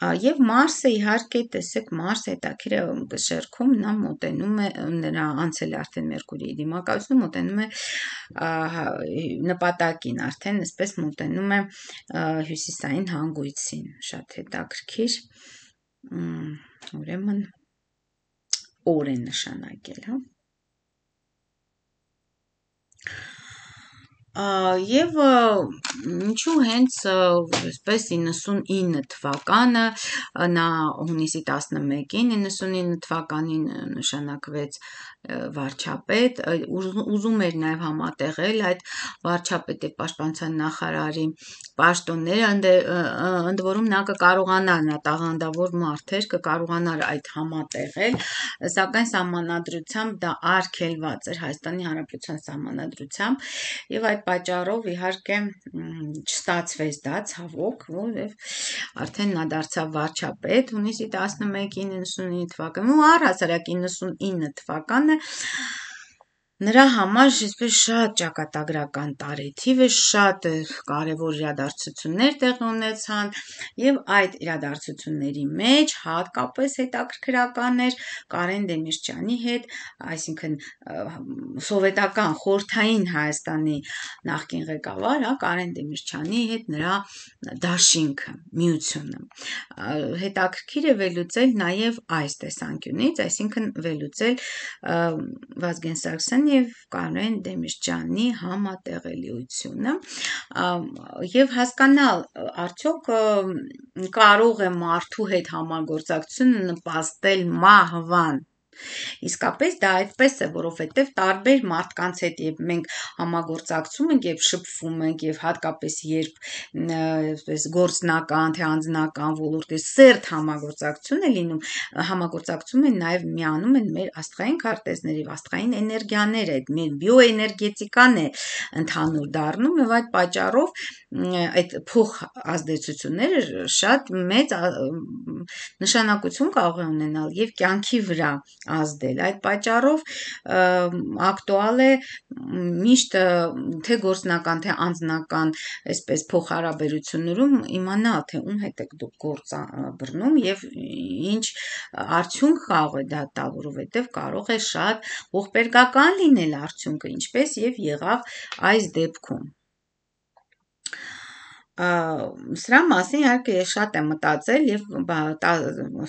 Եվ Մարսը իհարկե, տեսեք, Մարսը հետաքրիր է շերքում, նա մոտենում է, նրա անցել է արդեն Մերկուրիի դիմակայությունը, մոտենում է նպատակին, արդեն այսպես մոտենում է հյուսիսային հանգույցին, շատ հետաքրքիր, ուրեմն օր է նշանակել, հա։ Եվ ինչու հենց այսպես իննսունինը թվականը, նա հունիսի տասնմեկին իննսունինը թվականին նշանակվեց վարչապետ, ուզում էր նաև համատեղել այդ վարչապետի պաշտպանության նախարարի պաշտոնները, ընդ որում նա կկարողանար, նա տաղանդավոր մարդ էր, կկարողանար այդ համատեղել, սակայն սահմանադրությամբ դա արգելված էր Հայաստանի Հանրապետության սահմանադրությամբ եւ այդ պատճառով իհարկե չստացվեց դա ցավոք, որովհետեւ արդեն նա դարձավ վարչապետ հունիսի տասնմեկին իննսունինը թվականին ու առհասարակ իննսունինը թվականը նրա համար այսպես շատ ճակատագրական տարեթիվ է, շատ կարևոր իրադարձություններ տեղի ունեցան եւ այդ իրադարձությունների մեջ հատկապես հետաքրքրական էր Կարեն Դեմիրճյանի հետ, այսինքն սովետական խորհրդային Հայաստանի նախկին ղեկավար, հա, Կարեն Դեմիրճյանի հետ նրա դաշինքը, միությունը։ Հետաքրքիր է վերլուծել նաեւ այս տեսանկյունից, այսինքն վերլուծել Վազգեն Սարգսյանի եւ Կարեն Դեմիրճյանի համատեղելիությունը եւ հասկանալ արդյոք կարող է մարդու հետ համագործակցությունը նպաստել մահվան Իսկապես դա այդպես է, որովհետև տարբեր մարդկանց հետ երբ մենք համագործակցում ենք, երբ շփվում ենք եւ հատկապես երբ այսպես գործնական, թե անձնական ոլորտի սերտ համագործակցություն է լինում, համագործակցում են նաեւ միանում են մեր աստղային քարտեզների, աստղային էներգիաները, այդ մեր բիոէներգետիկան է ընդհանուր դառնում եւ այդ պատճառով այդ փոխ ազդեցությունները շատ մեծ նշանակություն կարող է ունենալ եւ կյանքի վրա ազդել։ Այդ պատճառով ակտուալ է միշտ թե գործնական, թե անձնական այսպես փոխհարաբերություններում իմանալ, թե ում հետ եք դուք գործ բռնում եւ ինչ արդյունք կարող է դա տալ, որովհետեւ կարող է շատ ողբերգական լինել արդյունքը, ինչպես եւ եղավ այս դեպքում։ Սրա մասին իհարկե ես շատ եմ մտածել եւ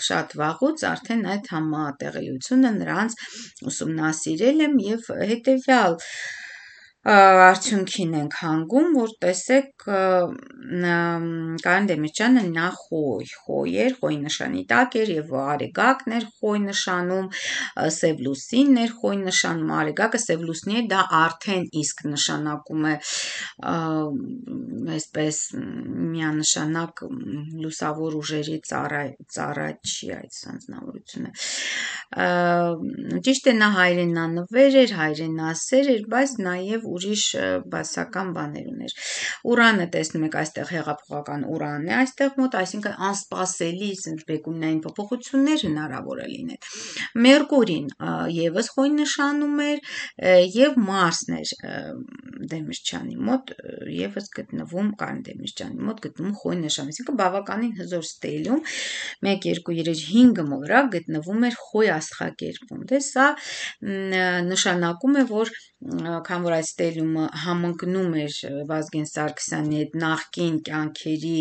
շատ վաղուց արդեն այդ համատեղելիությունը նրանց ուսումնասիրել եմ եւ հետեւյալ արդյունքին ենք հանգում, որ տեսեք Կարեն Դեմիրճյանը նա խոյ, խոյ էր, խոյի նշանի տակ էր եւ արեգակն էր խոյ նշանում, սև լուսինն էր խոյ նշանում, արեգակը սև լուսնի է, դա արդեն իսկ նշանակում է այսպես միանշանակ լուսավոր ուժերի ծառա ծառաչի այդ անձնավորությունը ճիշտ է նա հայրենանվեր էր, հայրենասեր էր, բայց նաեւ ուրիշ բացական բաներ ուներ։ Ուրանը տեսնում եք այստեղ հեղափոխական ուրանն է այստեղ մոտ, այսինքն անսպասելի բեկումնային փոփոխություններ հնարավոր է լինել։ Մերկուրին եւս խոյ նշանում էր եւ Մարսն էր Դեմիրճյանի մոտ եւս գտնվում Կարեն Դեմիրճյանի մոտ գտնվում խոյ նշան, այսինքն բավականին հզոր ստելում մեկ երկու երեք հինգ մոլորակ գտնվում էր խոյ աստղակերպում։ Դե սա նշանակում է, որ քան որ այդ ստելյումը համընկնում էր Վազգեն Սարգսյանի հետ նախկին կյանքերի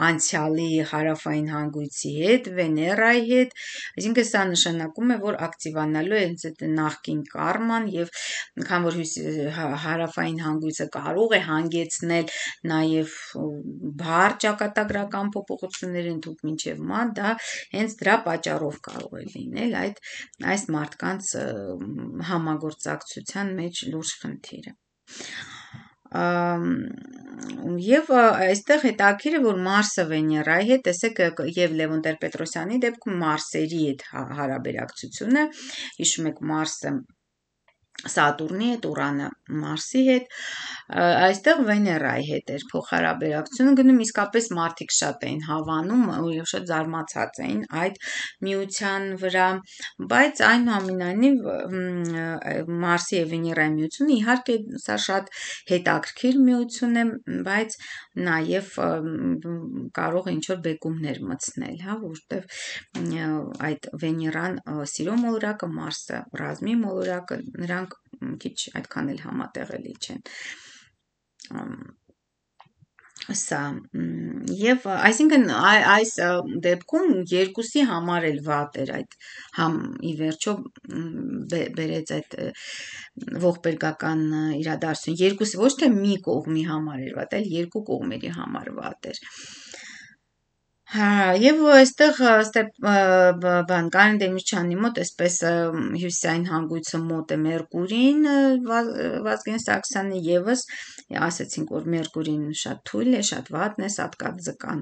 անցյալի հարավային հանգույցի հետ, Վեներայի հետ, այսինքն սա նշանակում է, որ ակտիվանալու է հենց այդ նախկին կարման եւ քան որ հարավային հանգույցը կարող է հանգեցնել նաեւ բար ճակատագրական փոփոխություններ ընդհանուր մինչեւ ման, դա հենց դրա պատճառով կարող է լինել այդ այս մարդկանց համագործակցության մեջ լուրջ խնդիրը։ Եվ այստեղ հետաքրքիր է, որ Մարսը Վեներայի հետ, տեսեք, եւ Լևոն Տեր-Պետրոսյանի դեպքում Մարսերի հետ հարաբերակցությունը, հիշում եք Մարսը Սատուրնի հետ, Ուրանը Մարսի հետ, այստեղ Վեներայի հետ էր փոխհարաբերակցությունը գնում, իսկապես մարդիկ շատ էին հավանում եւ շատ զարմացած էին այդ միության վրա, բայց այնուամենայնիվ Մարսի եւ Վեներայի միությունը իհարկե սա շատ հետաքրքիր միություն է, բայց նաեւ կարող է ինչ-որ բեկումներ մտցնել, հա, որտեվ այդ Վեներան սիրո մոլորակը, Մարսը ռազմի մոլորակը, նրանք քիչ այդքան էլ համատեղելի չեն։ Սա եւ այսինքն այս դեպքում երկուսի համար էլ վատ էր այդ համ ի վերջո բերեց այդ ողբերգական իրադարձություն երկուսի ոչ թե մի կողմի համար էր վատ, այլ երկու կողմերի համար վատ էր։ Հա, եւ այստեղ բան Կարեն Դեմիրճյանի մոտ այսպես հյուսիսային հանգույցը մոտ է Մերկուրին Վազգեն Սարգսյանի եւս ասացինք, որ Մերկուրին շատ թույլ է, շատ վատն է, սատկածական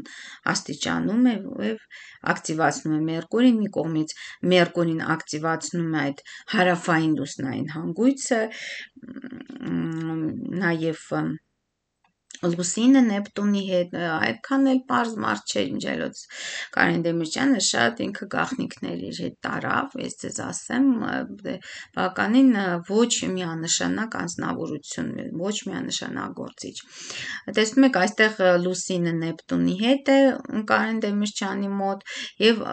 աստիճանում է եւ ակտիվացնում է Մերկուրին, մի կողմից Մերկուրին ակտիվացնում է այդ հարավային լուսնային հանգույցը, նաեւ Լուսինը Նեպտունի հետ այդքան էլ պարզ մարդ չէր միջելոց Կարեն Դեմիրճյանը շատ ինքը գաղտնիքներ իր հետ տարավ, ես ձեզ ասեմ, բավականին ոչ միանշանակ անձնավորություն, ոչ միանշանակ գործիչ։ Տեսնում եք, այստեղ Լուսինը Նեպտունի հետ է Կարեն Դեմիրճյանի մոտ եւ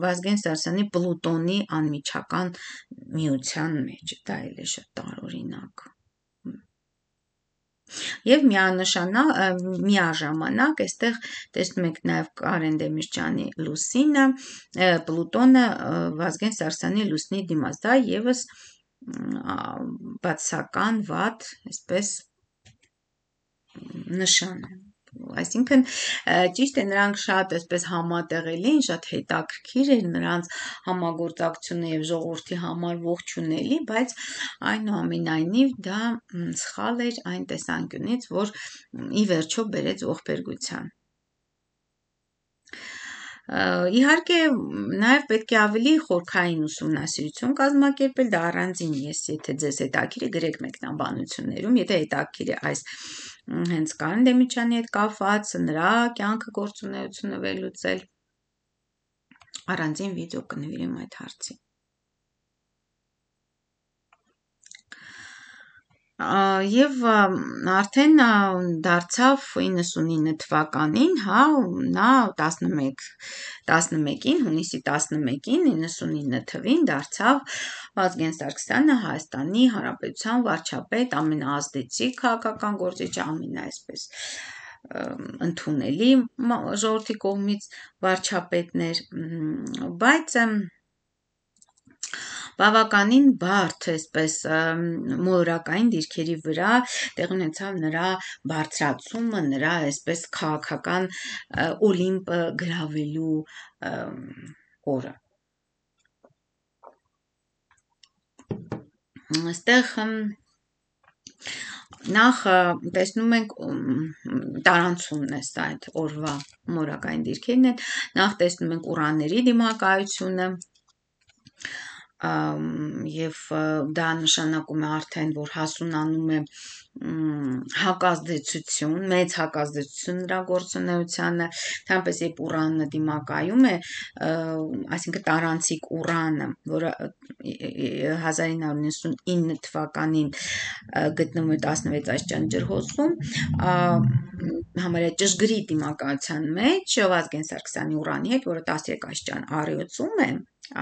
Վազգեն Սարգսյանի Պլուտոնի անմիջական միության մեջ, դա էլ է շատ տարօրինակ։ Եվ միանշանակ միաժամանակ այստեղ տեսնում եք նաև Կարեն Դեմիրճյանի Լուսինը, Պլուտոնը Վազգեն Սարգսյանի Լուսնի դիմաց, դա եւս բացական վատ, այսպես նշան է։ Այսինքն ճիշտ է նրանք շատ այսպես համատեղելի են, շատ հետաքրքիր էր նրանց համագործակցությունը եւ ժողովրդի համար ողջունելի, բայց այնուամենայնիվ դա սխալ էր այն տեսանկյունից, որ ի վերջո բերեց ողբերգության։ Իհարկե, նաև պետք է ավելի խորքային ուսումնասիրություն կազմակերպել, դա առանձին ես, եթե ձեզ հետաքրքիր է, գրեք մեկնաբանություններում, եթե հետաքրքիր է այս հենց Կարեն Դեմիրճյանի հետ կապված, նրա կյանքը գործունեությունը վերլուծել, առանձին վիդեո կնվիրեմ այդ հարցին։ Եվ արդեն դարձավ իննսունինը թվականին, հա, նա տասնմեկ տասնմեկին, հունիսի տասնմեկին, իննսունինը թվին դարձավ Վազգեն Սարգսյանը Հայաստանի Հանրապետության վարչապետ, ամենաազդեցիկ քաղաքական գործիչը, ամենաայսպես ընդունելի ժողովրդի կողմից վարչապետներ, բայց բավականին բարդ, այսպես մոլորակային դիրքերի վրա տեղի ունեցավ նրա բարձրացումը, նրա այսպես քաղաքական օլիմպը գրավելու օրը։ Այստեղ նախ տեսնում ենք տարանցումն է սա այդ օրվա մոլորակային դիրքերն են, նախ տեսնում ենք ուրանների դիմակայությունը, եւ դա նշանակում է արդեն, որ հասունանում է հակազդեցություն, մեծ հակազդեցություն նրա գործունեությանը, թամպես երբ Ուրանը դիմակայում է, այսինքն տարանցիկ Ուրանը, որը հազար ինը հարյուր նվաթինը թվականին գտնվում է տասնվեց աստիճան ջրհոսում, համարյա ճշգրիտ դիմակայության մեջ Վազգեն Սարգսյանի Ուրանի հետ, որը տասներկու աստիճան առյուծում է,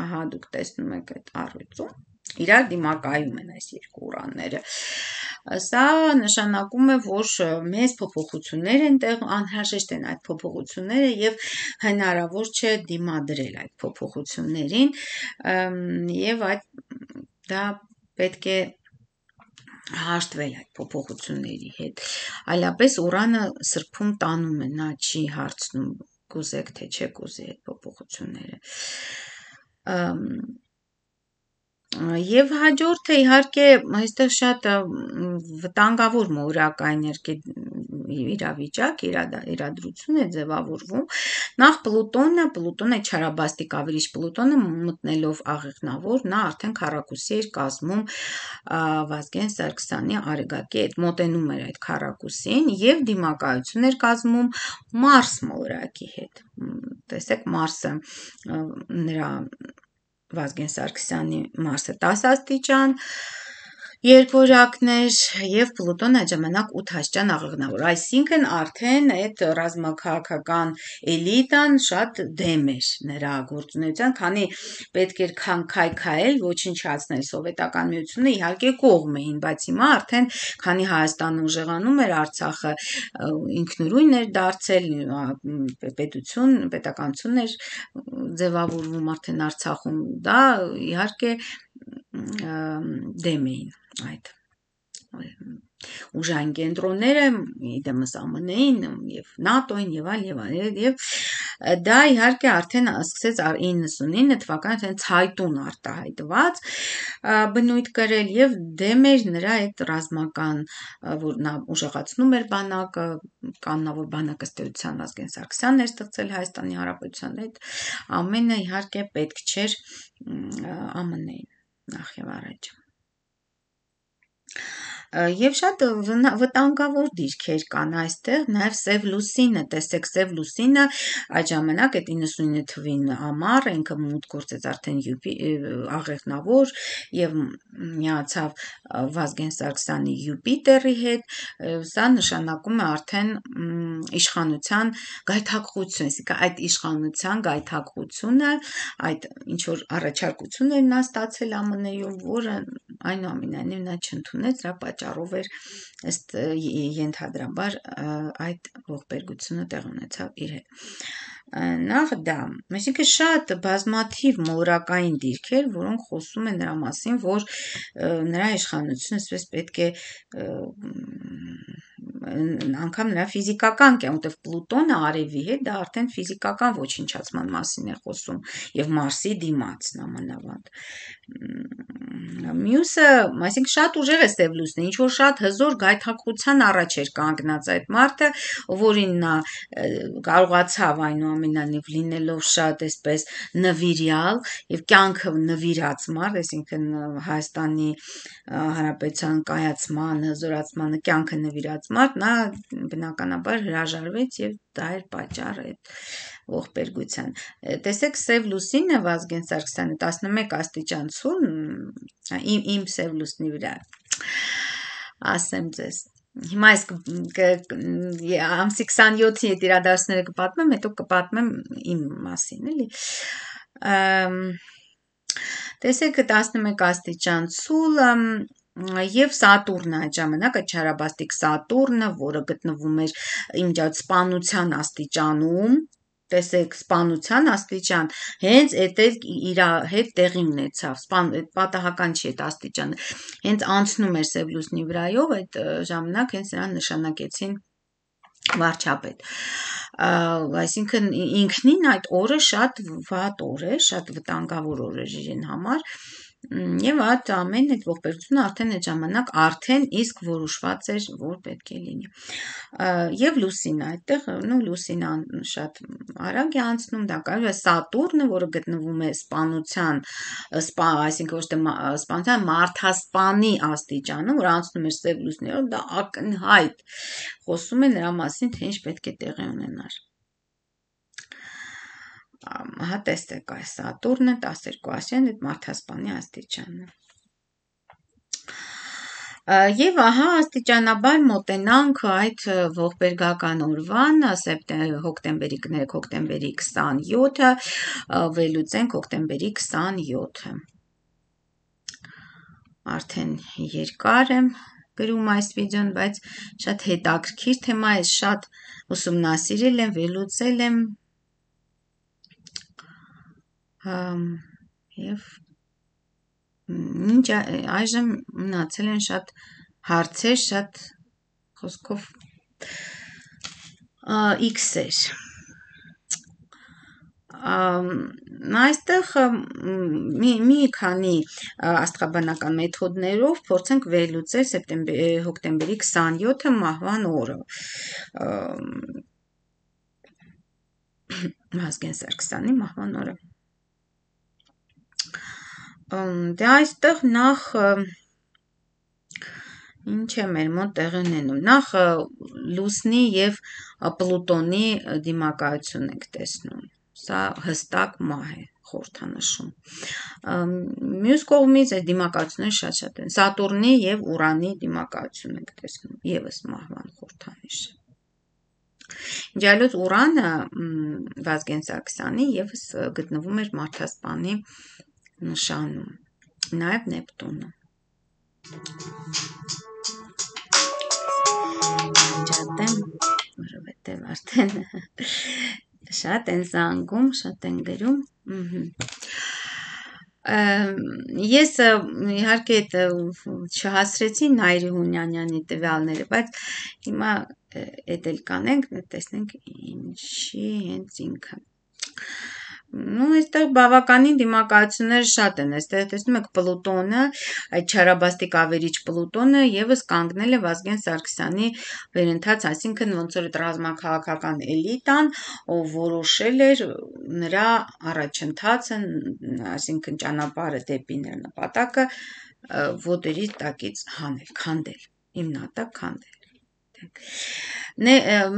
ահա դուք տեսնում եք այդ առյուծում, իրար դիմակայում են այս երկու ուրանները։ Սա նշանակում է, որ մեծ փոփոխություններ են տեղ, անհրաժեշտ են այդ փոփոխությունները եւ հնարավոր չէ դիմադրել այդ փոփոխություններին եւ այդ դա պետք է հաշտվել այդ փոփոխությունների հետ։ Այլապես Ուրանը սրբում տանում է, նա չի հարցնում կուզեք թե չեք ուզի այդ փոփոխությունները։ Եվ հաջորդը իհարկե այստեղ շատ վտանգավոր մոլորակային իրավիճակ, իրադրություն է ձևավորվում։ Նախ Պլուտոնը, Պլուտոնը չարաբաստիկ ավիրիչ Պլուտոնը մտնելով աղեղնավոր, նա արդեն քառակուսի էր կազմում Վազգեն Սարգսյանի Արեգակի հետ, մոտենում էր այդ քառակուսին եւ դիմակայություն էր կազմում Մարս մոլորակի հետ։ Տեսեք Մարսը նրա Վազգեն Սարգսյանի Մարսը տասը աստիճան երկորյակներ եւ Պլուտոնը այդ ժամանակ ութ աստիճան աղեղնավոր, այսինքն արդեն այդ ռազմաքաղաքական էլիտան շատ դեմ էր նրա գործունեության, քանի պետք էր քայքայել, ոչնչացնել սովետական միությունը, իհարկե կողմ էին, բայց հիմա արդեն քանի Հայաստանը ուժեղանում էր, Արցախը ինքնուրույն էր դարձել, պետություն, պետականություն էր ձևավորվում արդեն Արցախում, դա իհարկե դեմ էին այդ ուժային կենտրոնները, իդեմս ԱՄՆ-ին եւ ՆԱՏՕ-ին եւ այլ եւ այլ եւ դա իհարկե արդեն սկսեց իննսունինը թվականին ցայտուն արտահայտված բնույթ կրել եւ դեմ էր նրա այդ ռազմական, որ նա ուժեղացնում էր բանակը, կանոնավոր բանակը ըստ էության Վազգեն Սարգսյանն էր ստեղծել Հայաստանի Հանրապետության հետ, ամենը իհարկե պետք չէր ԱՄՆ-ին նախ եւ առաջ։ Եվ շատ վտանգավոր դիրքեր կան այստեղ, նաև Սև լուսինը, տեսեք Սև լուսինը այդ ժամանակ այդ իննսունինը թվին ամառ, ինքը մուտք գործեց արդեն աղեղնավոր եւ միացավ Վազգեն Սարգսյանի Յուպիտերի հետ, սա նշանակում է արդեն իշխանության գայթակղություն, այսինքն այդ իշխանության գայթակղությունը, այդ ինչ որ առաջարկություններ նա ստացել ԱՄՆ-ում, որը այնուամենայնիվ նա չընդունեց, դրա պատճառով էր ըստ ենթադրաբար այդ ողբերգությունը տեղի ունեցավ իր հետ։ Նախ դա, այսինքն շատ բազմաթիվ մոլորակային դիրքեր, որոնք խոսում են նրա մասին, որ նրա իշխանությունը այսպես պետք է անգամ նրա ֆիզիկական կյանք, որտեղ Պլուտոնը արևի հետ, դա արդեն ֆիզիկական ոչնչացման մասին է խոսում եւ Մարսի դիմաց նամանավանդ։ Մյուսը, այսինքն շատ ուժեղ է Սև լուսինը, ինչ որ շատ հզոր գայթակղության առաջ էր կանգնած այդ մարդը, որին նա կարողացավ այնուամենայնիվ լինելով շատ այսպես նվիրյալ եւ կյանքը նվիրած մարդ, այսինքն Հայաստանի Հանրապետության կայացման, հզորացմանը կյանքը նվիրած մարդ, նա բնականաբար հրաժարվեց եւ դա էր պատճառը այդ ողբերգության։ Տեսեք Սև լուսինը Վազգեն Սարգսյանը տասնմեկ աստիճան ցուրտ, իմ իմ Սև լուսնի վրա ասեմ ձեզ։ Հիմա այս ամսի քսանյոթի այդ իրադարձները կպատմեմ, հետո կպատմեմ իմ մասին, էլի։ Տեսեք տասնմեկ աստիճան ցուլ եւ Սատուրնը այդ ժամանակ այդ չարաբաստիկ Սատուրնը, որը գտնվում էր իմիջիայլոց սպանության աստիճանում, տեսեք սպանության աստիճան, հենց այդ իր հետ տեղի ունեցավ, սպան պատահական չի այդ աստիճանը, հենց անցնում էր Սև լուսնի վրայով, այդ ժամանակ հենց նրան նշանակեցին վարչապետ։ Այսինքն ինքնին այդ օրը շատ վատ օր է, շատ վտանգավոր օր էր իրեն համար, եւ այդ ամեն այդ ողբերգությունը արդեն այդ ժամանակ արդեն իսկ որոշված էր, որ պետք է լինի։ Եվ լուսինը այդտեղ, նո լուսինը շատ արագ է անցնում, դա կարող է Սատուրնը, որը գտնվում է սպանության, սպա, այսինքն ոչ թե սպանության, մարդասպանի աստիճանում, որ անցնում էր Սև լուսներով, դա ակնհայտ խոսում է նրա մասին, թե ինչ պետք է տեղի ունենար։ Ահա տեսեք այս Սատուրնը տասներկու ասյան այդ մարդասպանի աստիճանը։ Եվ ահա աստիճանաբար մոտենանք այդ ողբերգական օրվան, հոկտեմբերի կներեք հոկտեմբերի քսանյոթը, վերլուծենք հոկտեմբերի քսանյոթը։ Արդեն երկար եմ գրում այս վիդեոն, բայց շատ հետաքրքիր թեմա է, շատ ուսումնասիրել եմ, վերլուծել եմ եւ ինչ այժմ մնացել են շատ հարցեր, շատ խոսքով X-էր։ Այստեղ մի, մի քանի աստղաբանական մեթոդներով փորձենք վերլուծել հոկտեմբերի քսանյոթը մահվան օրը։ Վազգեն Սարգսյանի մահվան օրը։ Դե այստեղ նախ ինչ է մեր մոտ տեղի ունենում, նախ լուսնի եւ Պլուտոնի դիմակայություն եք տեսնում, սա հստակ մահ է խորհրդանշում։ Մյուս կողմից այդ դիմակայությունները շատ-շատ են, Սատուրնի եւ Ուրանի դիմակայություն եք տեսնում, եւս մահվան խորհրդանիշ է։ Ջալոց Ուրանը Վազգեն Սարգսյանի եւս գտնվում էր մարդասպանի նշանում, նաև Նեպտունը։ Ջատեմ, որովհետև արդեն շատ են զանգում, շատ են գրում։ Ես իհարկե չհասրեցի Նայիրի Հունյանյանի տվյալները, բայց հիմա էդ էլ կանենք, տեսնենք ինչի հենց ինքը։ Ну, այստեղ բավականին դիմակայություններ շատ են, այստեղ տեսնում եք Պլուտոնը, այդ չարաբաստիկ ավերիչ Պլուտոնը եւս կանգնել է Վազգեն Սարգսյանի վերընթաց, այսինքն ոնց որ ռազմաքաղաքական էլիտան, ով որոշել էր նրա առաջընթացը, այսինքն ճանապարհը դեպի նրա նպատակը ոտերի տակից հանել, քանդել։ հիմնատակ քանդել։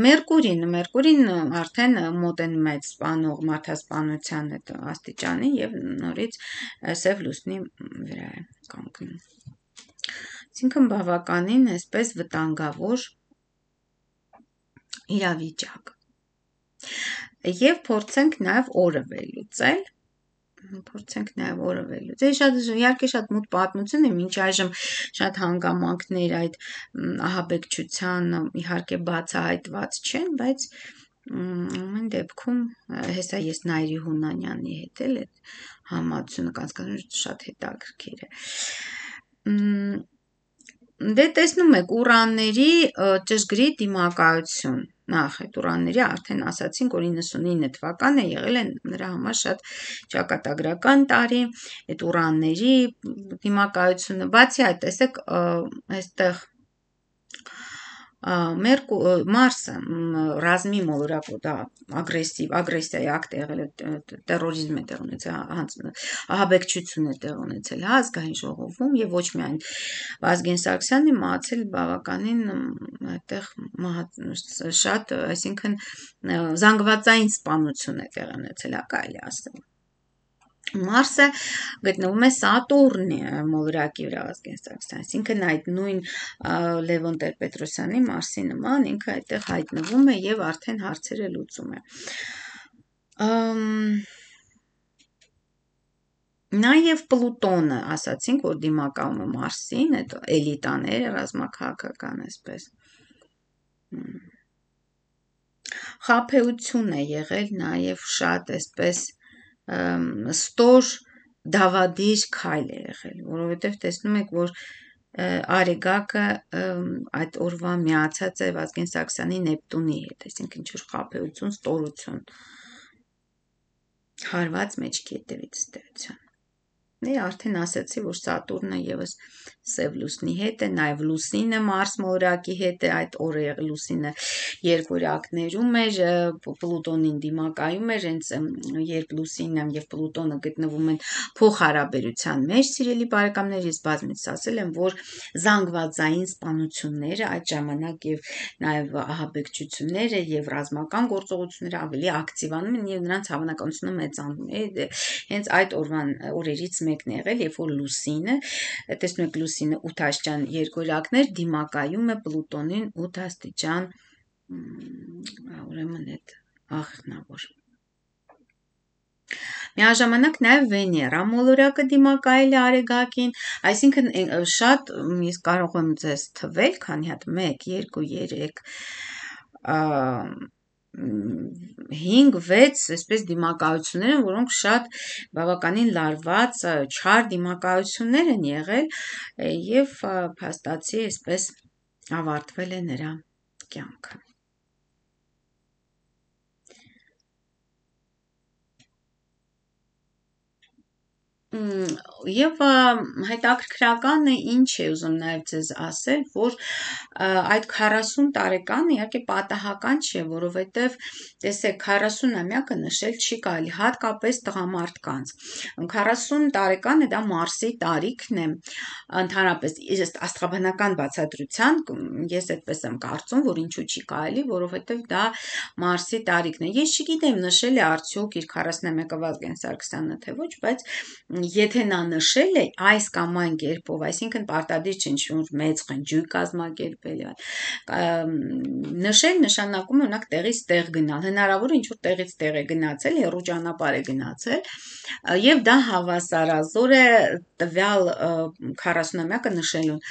Մերկուրին, Մերկուրին արդեն մոտենում է սպանող մարդասպանության այդ աստիճանի եւ նորից սև լուսնի վրա է կանգնում։ Այսինքն բավականին այսպես վտանգավոր իրավիճակ։ Եվ փորձենք նաեւ օրը վերլուծել։ Փորձենք նաև օրը վերլուծել։ Շատ իհարկե շատ մութ պատմություն է, մինչ այժմ շատ հանգամանքներ այդ ահաբեկչության իհարկե բացահայտված չեն, բայց ամեն դեպքում հեսա ես Նայիրի Հունանյանի հետ էլ այդ համացությունը կանցկացնում շատ հետաքրքիր է։ Դե տեսնում եք ուրանների ճշգրիտ դիմակայություն։ Նախ այդ ուրանների արդեն ասացինք, որ իննսունինը թվականն է եղել է նրա համար շատ ճակատագրական տարի, այդ ուրանների դիմակայությունը, բացի այդ, տեսեք, այստեղ Մարսը ռազմի մոլորակ դա ագրեսիվ, ագրեսիայի ակտ է եղել, տերորիզմ է տեղ ունեցել, ահաբեկչություն է տեղ ունեցել ազգային ժողովում եւ ոչ միայն Վազգեն Սարգսյանը մահացել բավականին այդտեղ շատ, այսինքն զանգվածային սպանություն է տեղ ունեցել, կարելի ասել։ Մարսը գտնվում է Սատուրնի մոլորակի վրա Վազգեն Սարգսյանը, այսինքն այդ նույն Լևոն Տեր-Պետրոսյանի Մարսի նման ինքը այդտեղ հայտնվում է եւ արդեն հարցերը լուծում է։ Նաեւ Պլուտոնը, ասացինք, որ դիմակայում է Մարսին, այդ էլիտաները ռազմաքաղաքական այսպես։ Խաբեություն է եղել նաեւ շատ այսպես ստոր դավադիր քայլ է եղել, որովհետև տեսնում եք, որ Արեգակը այդ օրվա միացած է Վազգեն Սարգսյանի Նեպտունի հետ, այսինքն ինչ-որ խաբեություն, ստորություն, հարված մեջքի հետևից ստեղծան։ Դե արդեն ասացի, որ Սատուրնը եւս սև լուսնի հետ է, նաեւ Լուսինը Մարս մոլորակի հետ է, այդ օրը Լուսինը երկորյակներում էր, Պլուտոնին դիմակայում էր, հենց երբ Լուսինը եւ Պլուտոնը գտնվում են փոխհարաբերության մեջ, սիրելի բարեկամներ, ես բազմիցս ասել եմ, որ զանգվածային սպանությունները այդ ժամանակ եւ նաեւ ահաբեկչությունները եւ ռազմական գործողությունները ավելի ակտիվանում են եւ նրանց հավանականությունը մեծանում է, հենց այդ օրվան օրերից մեկն եղել, երբ որ Լուսինը, տեսնում եք Լուսինը ութ աստիճան երկորյակներ դիմակայում է Պլուտոնին ութ աստիճան, ուրեմն այդ աղիքնավոր։ Միաժամանակ նաև Վեներա մոլորակը դիմակայել է Արեգակին, այսինքն շատ ես կարող եմ ձեզ թվել, քանի հատ մեկ, երկու, երեք, հինգ, վեց, այսպես դիմակայություններ են, որոնք շատ բավականին լարված, չար դիմակայություններ են եղել եւ փաստացի այսպես ավարտվել է նրա կյանքը։ Եվ հետաքրքրականը ինչ է ուզում նաև ձեզ ասել, որ այդ քառասուն տարեկանը իհարկե պատահական չէ, որովհետև տեսեք քառասունամյակը նշել չի կարելի, հատկապես տղամարդկանց։ քառասուն տարեկանը դա Մարսի տարիքն է, ընդհանրապես աստղաբանական բացատրության, ես այդպես եմ կարծում, որ ինչու չի կարելի, որովհետև դա Մարսի տարիքն է։ Ես չգիտեմ նշել է արդյոք իր քառասունամյակը Վազգեն Սարգսյանը, թե ոչ, բայց եթե նա նշել է այս կամ այն կերպով, այսինքն պարտադիր չէ ինչ-որ մեծ խնջույք կազմակերպել, նշել նշանակում է օրինակ տեղից տեղ գնալ, հնարավոր է ինչ-որ տեղից տեղ է գնացել, հեռու ճանապարհ է գնացել, եւ դա հավասարազոր է տվյալ քառասունամյակը նշելուն,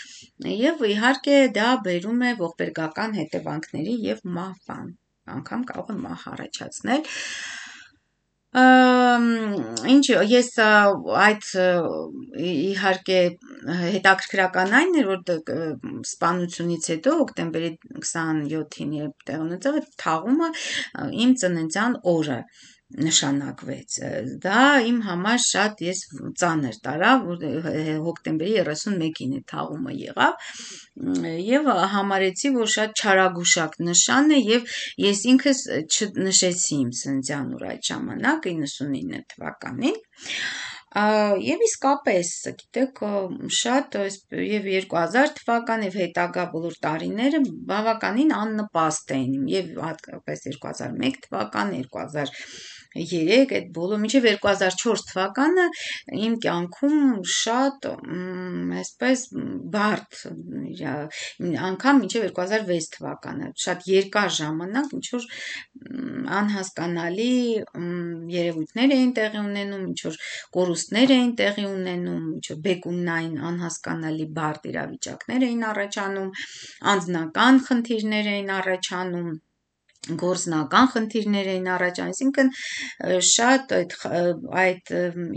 եւ իհարկե դա բերում է ողբերգական հետևանքների եւ մահվան, անգամ կարող է մահ առաջացնել։ Ինչ ես այդ իհարկե հետաքրքրական այն էր, որ սպանությունից հետո հոկտեմբերի քսանյոթին երբ տեղ ունեցավ, թաղումը իմ ծննդյան օրը նշանակվեց, դա իմ համար շատ ես ծանր տարա, որ հոկտեմբերի երեսունմեկին է թաղումը եղավ եւ համարեցի, որ շատ չարագուշակ նշան է եւ ես ինքս չնշեցի իմ ծննդյան օր այդ ժամանակ իննսունինը թվականին, Եվ իսկապես, գիտեք, շատ եւ երկու հազար թվական եւ հետագա բոլոր տարիները բավականին աննպաստ էին եւ հատկապես երկու հազար մեկ թվական, երկու հազար երեք այդ բոլոր մինչև երկու հազար չորս թվականը իմ կյանքում շատ այսպես բարդ անգամ մինչև երկու հազար վեց թվականը շատ երկար ժամանակ ինչ որ անհասկանալի երևույթներ էին տեղի ունենում, ինչ որ կորուստներ էին տեղի ունենում, ինչ որ բեկումնային անհասկանալի բարդ իրավիճակներ էին առաջանում, անձնական խնդիրներ էին առաջանում, գործնական խնդիրներ էին առաջանում, այսինքն շատ այդ այդ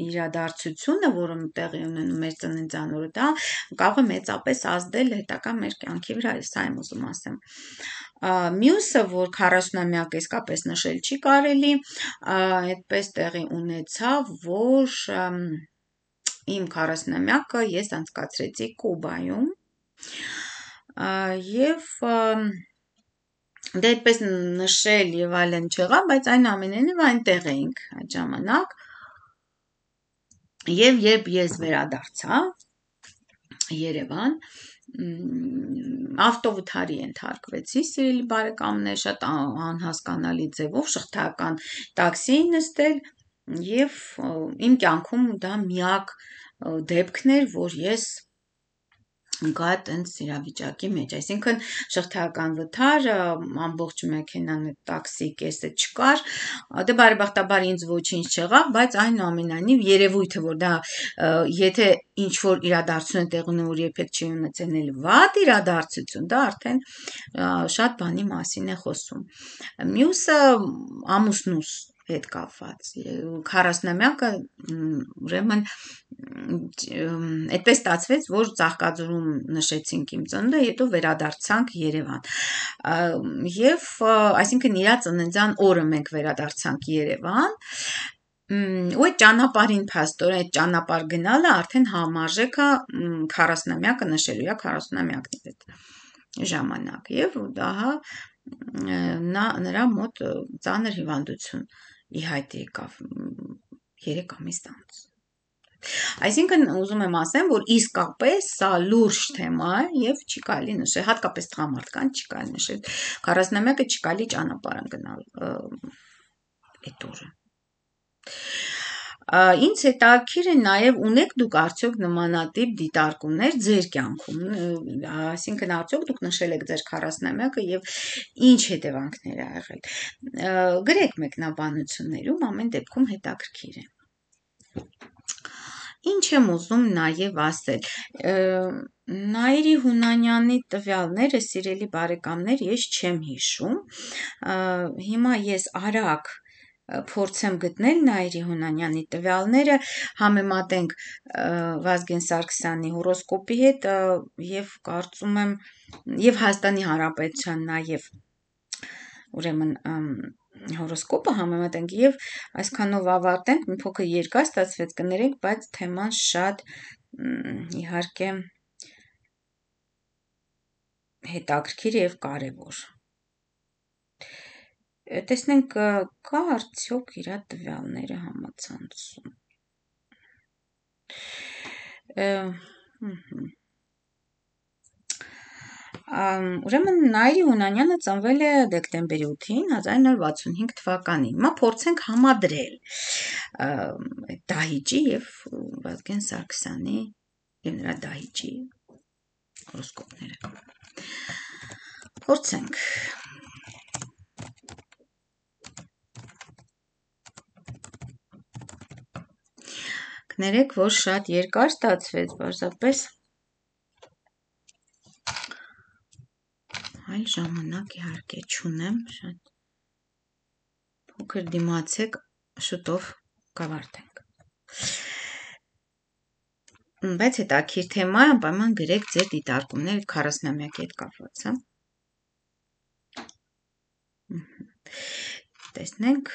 իրադարձությունը, որը տեղի ունենում մեր ծննդյան օրը, դա կարող է մեծապես ազդել հետագա մեր կյանքի վրա, սա եմ ուզում ասեմ։ Մյուսը, որ քառասունամյակը իսկապես նշել չի կարելի, այդպես տեղի ունեցավ, որ իմ քառասունամյակը ես անցկացրեցի Կուբայում եւ դե այդպես նշել եւ այլն չեղավ, բայց այնուամենայնիվ այնտեղ էինք այդ ժամանակ եւ երբ ես վերադարձա Երևան ավտովթարի ենթարկվեցի, սիրելի բարեկամներ, շատ անհասկանալի ձևով շղթայական տաքսի էի նստել եւ իմ կյանքում դա միակ դեպքն էր, որ ես գա տենց իրավիճակի մեջ, այսինքն շղթայական վթար, ամբողջ մեքենան տաքսի կեսը չկար, դե բարեբախտաբար ինձ ոչինչ չեղավ, բայց այնուամենայնիվ երևույթը, որ դա եթե ինչ որ իրադարձություն է տեղի ունենում, որ երբեք չի ունեցել վատ իրադարձություն, դա արդեն շատ բանի մասին է խոսում։ Մյուսը ամուսնուս հետ կապված քառասունամյակը ուրեմն այդպես ստացվեց, որ Ծաղկաձորում նշեցինք իմ ծնունդը, հետո վերադարձանք Երևան։ Եվ այսինքն իրա ծննդյան օրը մենք վերադարձանք Երևան, ու այդ ճանապարհին փաստորեն այդ ճանապարհ գնալը արդեն համարժեք է քառասունամյակը նշելու, իրա քառասունամյակն էր այդ ժամանակ եւ ահա նա նրա մոտ ծանր հիվանդություն ի հայտ եկավ երեք ամիս անց։ Այսինքն ուզում եմ ասեմ, որ իսկապես սա լուրջ թեմա է եւ չի կարելի նշել, հատկապես տղամարդկանց չի կարելի նշել քառասունամյակը չի կարելի ճանապարհ գնալ այդ օրը։ Ինձ հետաքրքիր է նաև ունեք դուք արդյոք նմանատիպ դիտարկումներ ձեր կյանքում, այսինքն արդյոք դուք նշել եք ձեր քառասունամյակը եւ ինչ հետևանքներ ա եղել։ Գրեք մեկնաբանություններում, ամեն դեպքում հետաքրքիր է։ Ինչ եմ ուզում նաև ասել։ Նաիրի Հունանյանի տվյալները, սիրելի բարեկամներ, ես չեմ հիշում։ Հիմա ես արագ փորձեմ գտնել Նաիրի Հունանյանի տվյալները, համեմատենք Վազգեն Սարգսյանի հորոսկոպի հետ եւ կարծում եմ եւ Հայաստանի Հանրապետության նաեւ ուրեմն հորոսկոպը համեմատենք եւ այսքանով ավարտենք, մի փոքր երկար ստացվեց, կներեք, բայց թեման շատ իհարկե հետաքրքիր եւ կարեւոր։ Տեսնենք կա արդյոք իրա տվյալները համացանցում։ Ուրեմն Նաիրի Հունանյանը ծնվել է դեկտեմբերի ութին հազար նոր վաթսունհինգ թվականին։ Հիմա փորձենք համադրել Դահիճի եւ Վազգեն Սարգսյանի եւ նրա Դահիճի հորոսկոպները։ Փորձենք։ Կներեք, որ շատ երկար ստացվեց, պարզապես այլ ժամանակ իհարկե չունեմ, շատ փոքր դիմացեք, շուտով կավարտենք։ Բայց հետաքրքիր թեմա է, անպայման գրեք ձեր դիտարկումները քառասունամյակի հետ կապված, հա։ Տեսնենք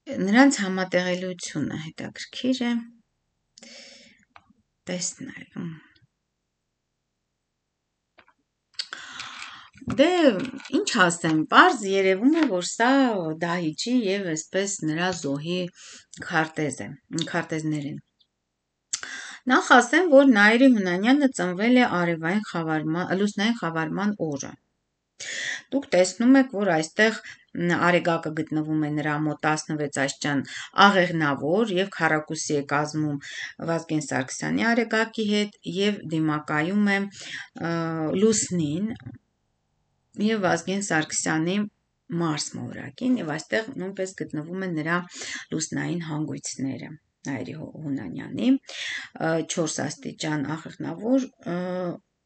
նրանց համատեղելիությունը հետաքրքիր է տեսնել։ Դե ինչ ասեմ, պարզ երևում է, որ սա Դահիճի եւ այսպես նրա զոհի քարտեզ է, քարտեզներ են։ Նախ ասեմ, որ Նայիրի Հունանյանը ծնվել է արևային խավարման, լուսնային խավարման օրը։ Դուք տեսնում եք, որ այստեղ արեգակը գտնվում է նրա մոտ տասնվեց աստիճան աղեղնավոր եւ քառակուսի է կազմում Վազգեն Սարգսյանի արեգակի հետ եւ դիմակայում է լուսնին եւ Վազգեն Սարգսյանի Մարս մոլորակին եւ այստեղ նույնպես գտնվում են նրա լուսնային հանգույցները Նայիրի Հունանյանի չորս աստիճան աղեղնավոր